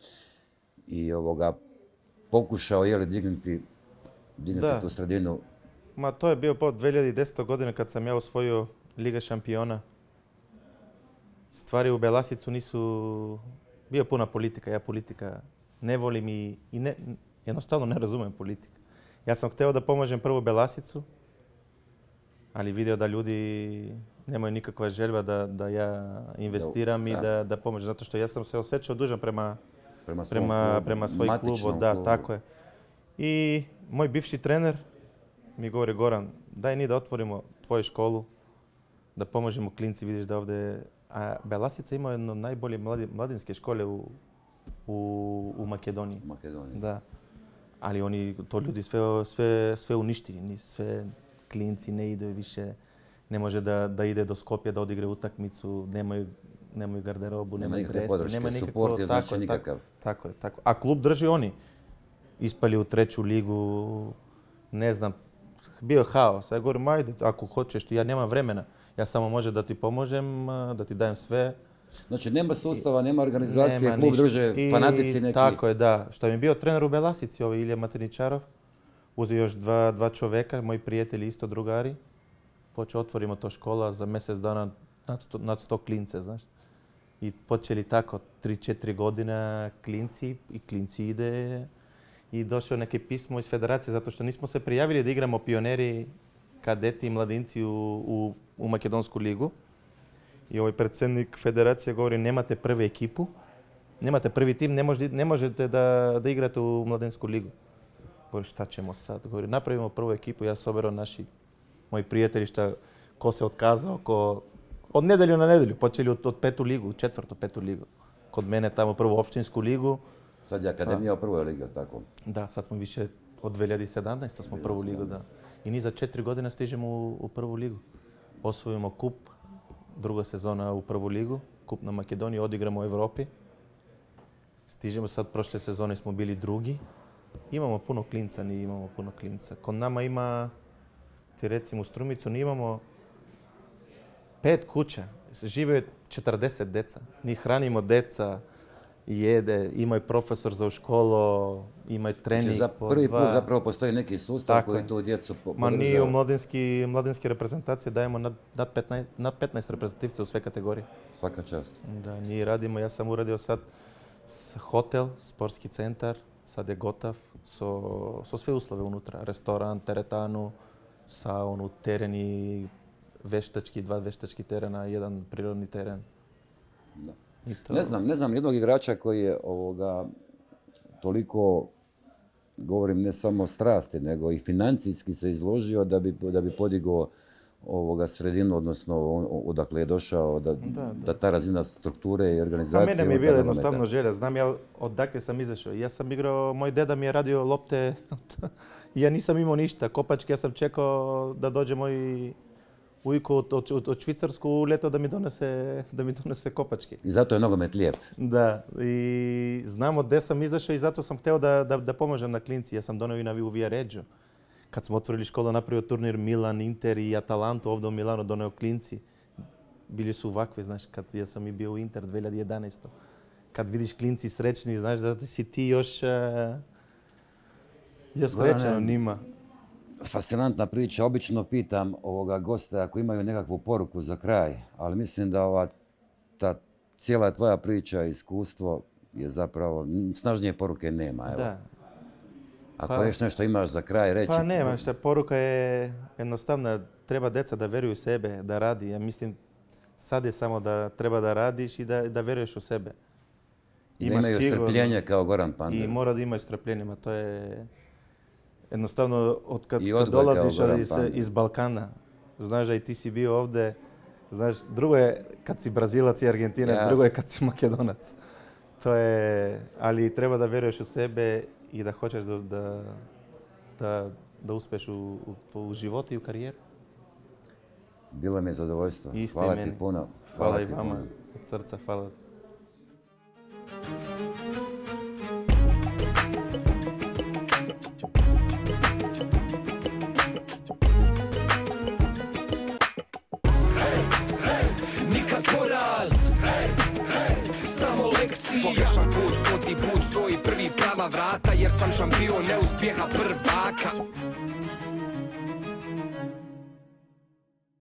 i pokušao dignuti tu sredinu. Ma to je bio po 2010. godine kad sam ja osvojio Liga šampiona. Stvari u Belasicu nisu... Bio puna politika, ja politika ne volim i jednostavno ne razumijem politiku. Ja sam htio da pomožem prvo Belasicu, ali vidio da ljudi nemaju nikakva želja da ja investiram i da pomožem. Zato što ja sam se osjećao dužan prema svoj klubu. Da, tako je. I moj bivši trener mi govori, Goran, daj ni da otvorimo tvoju školu, da pomožemo klinci, vidiš da ovdje... A Belasica ima jedno najbolje mladinske škole u Makedoniji. Da. Ali oni, to ljudi sve uništili. Sve klinci ne idu više. Ne može da ide do Skopja da odigre utakmicu. Nemaju garderobu, nemaju dresu. Nema nikakve podrške, suport je znači nikakav. Tako je. A klub drži oni. Ispali u 3. ligu. Ne znam. Bio je haos. Ja govorim, ajde, ako hoćeš, ja nemam vremena. Ja samo može da ti pomožem, da ti dajem sve. Znači nema sustava, nema organizacije, klub druže fanatici neki. Tako je, da. Što mi je bio trener u Belasici, Ilija Mateničarov. Uzeo još dva čoveka, moji prijatelji, isto drugari. Počeo otvorimo to škola za mjesec dana nad 100 klince, znaš. I počeli tako 3-4 godina klinci i klinci ide. I došlo neke pismo iz federacije zato što nismo se prijavili da igramo pioneri, kadeti i mladinci u Makedonsku ligu. I ovaj predsjednik federacije govori, nemate prvu ekipu, nemate prvi tim, ne možete da igrate u Mladinsku ligu. Govori, šta ćemo sad? Govori, napravimo prvu ekipu, ja soberao moji prijatelji ko se otkazao, od nedelju na nedelju, počeli od 5. ligu, 4., 5. ligu. Kod mene tamo prvu opštinsku ligu. Sad je Akademija u prvoj ligi, tako? Da, sad smo više od 2017. smo prvu ligu, da. I ni za 4 godine stižemo u prvu ligu. Osvojimo kup, druga sezona u prvu ligu, kup na Makedoniji, odigramo u Evropi. Stižemo sad, prošle sezone smo bili drugi. Imamo puno klinca, ni imamo puno klinca. Kod nama ima, ti recimo u Strumicu, ni imamo 5 kuća. Žive 40 deca. Ni hranimo deca, jede, imaju profesor za u školu, imaju trening. Znači prvi put zapravo postoji neki sustav koji tu djecu podržava. Ma nije u mladinske reprezentacije, dajemo nad 15 reprezentativca u sve kategorije. Svaka čast. Da, mi radimo, ja sam uradio sad hotel, sportski centar, sad je gotov, so sve uslove unutra. Restoran, teretanu, saunu, tereni, veštački, 2 veštački terena, 1 prirodni teren. Da. Ne znam jednog igrača koji je toliko, govorim ne samo strasti, nego i financijski se izložio da bi podigao sredinu, odnosno odakle je došao, da ta razina strukture i organizacije... Mene mi je bila jednostavno želja, znam ja odakle sam izašao. Ja sam igrao, moj deda mi je radio lopte, ja nisam imao ništa, kopačke, ja sam čekao da dođe moj ujko od Švicarsku u ljeto da mi donese kopačke. I zato je nogomet lijep. Da, i znamo gdje sam izašao i zato sam htio da pomožem na klinci. Ja sam donio i na Viareggio. Kad smo otvorili školu, napravio turnir Milan, Inter i Atalantu ovdje u Milanu, donio klinci. Bili su ovakvi, znaš, kad ja sam i bio u Inter 2011. Kad vidiš klinci srećni, znaš da si ti još srećan njima. Fascinantna priča. Obično pitam gosta ako imaju nekakvu poruku za kraj, ali mislim da ta cijela tvoja priča, iskustvo je zapravo, snažnije poruke nema. Evo. Da. Ako još nešto imaš za kraj reći... Pa nema šta, poruka je jednostavna. Treba djeca da vjeruju u sebe, da radi. Ja mislim, sad je samo da treba da radiš i da vjeruješ u sebe. Da imaju strpljenje kao Goran Pandev. I mora da imaju strpljenje, to je... Jednostavno, kad dolaziš iz Balkana, znaš da i ti si bio ovdje, znaš, drugo je kad si Brazilac i Argentinac, drugo je kad si Makedonac. To je, ali treba da vjeruješ u sebe i da hoćeš da uspeš u životu i u karijeru. Bilo mi je zadovoljstvo. Hvala ti puno. Hvala i vama, od srca, hvala. Pogrešan put, 100. put, stoji prvi prava vrata, jer sam šampion neuspjeha prvaka.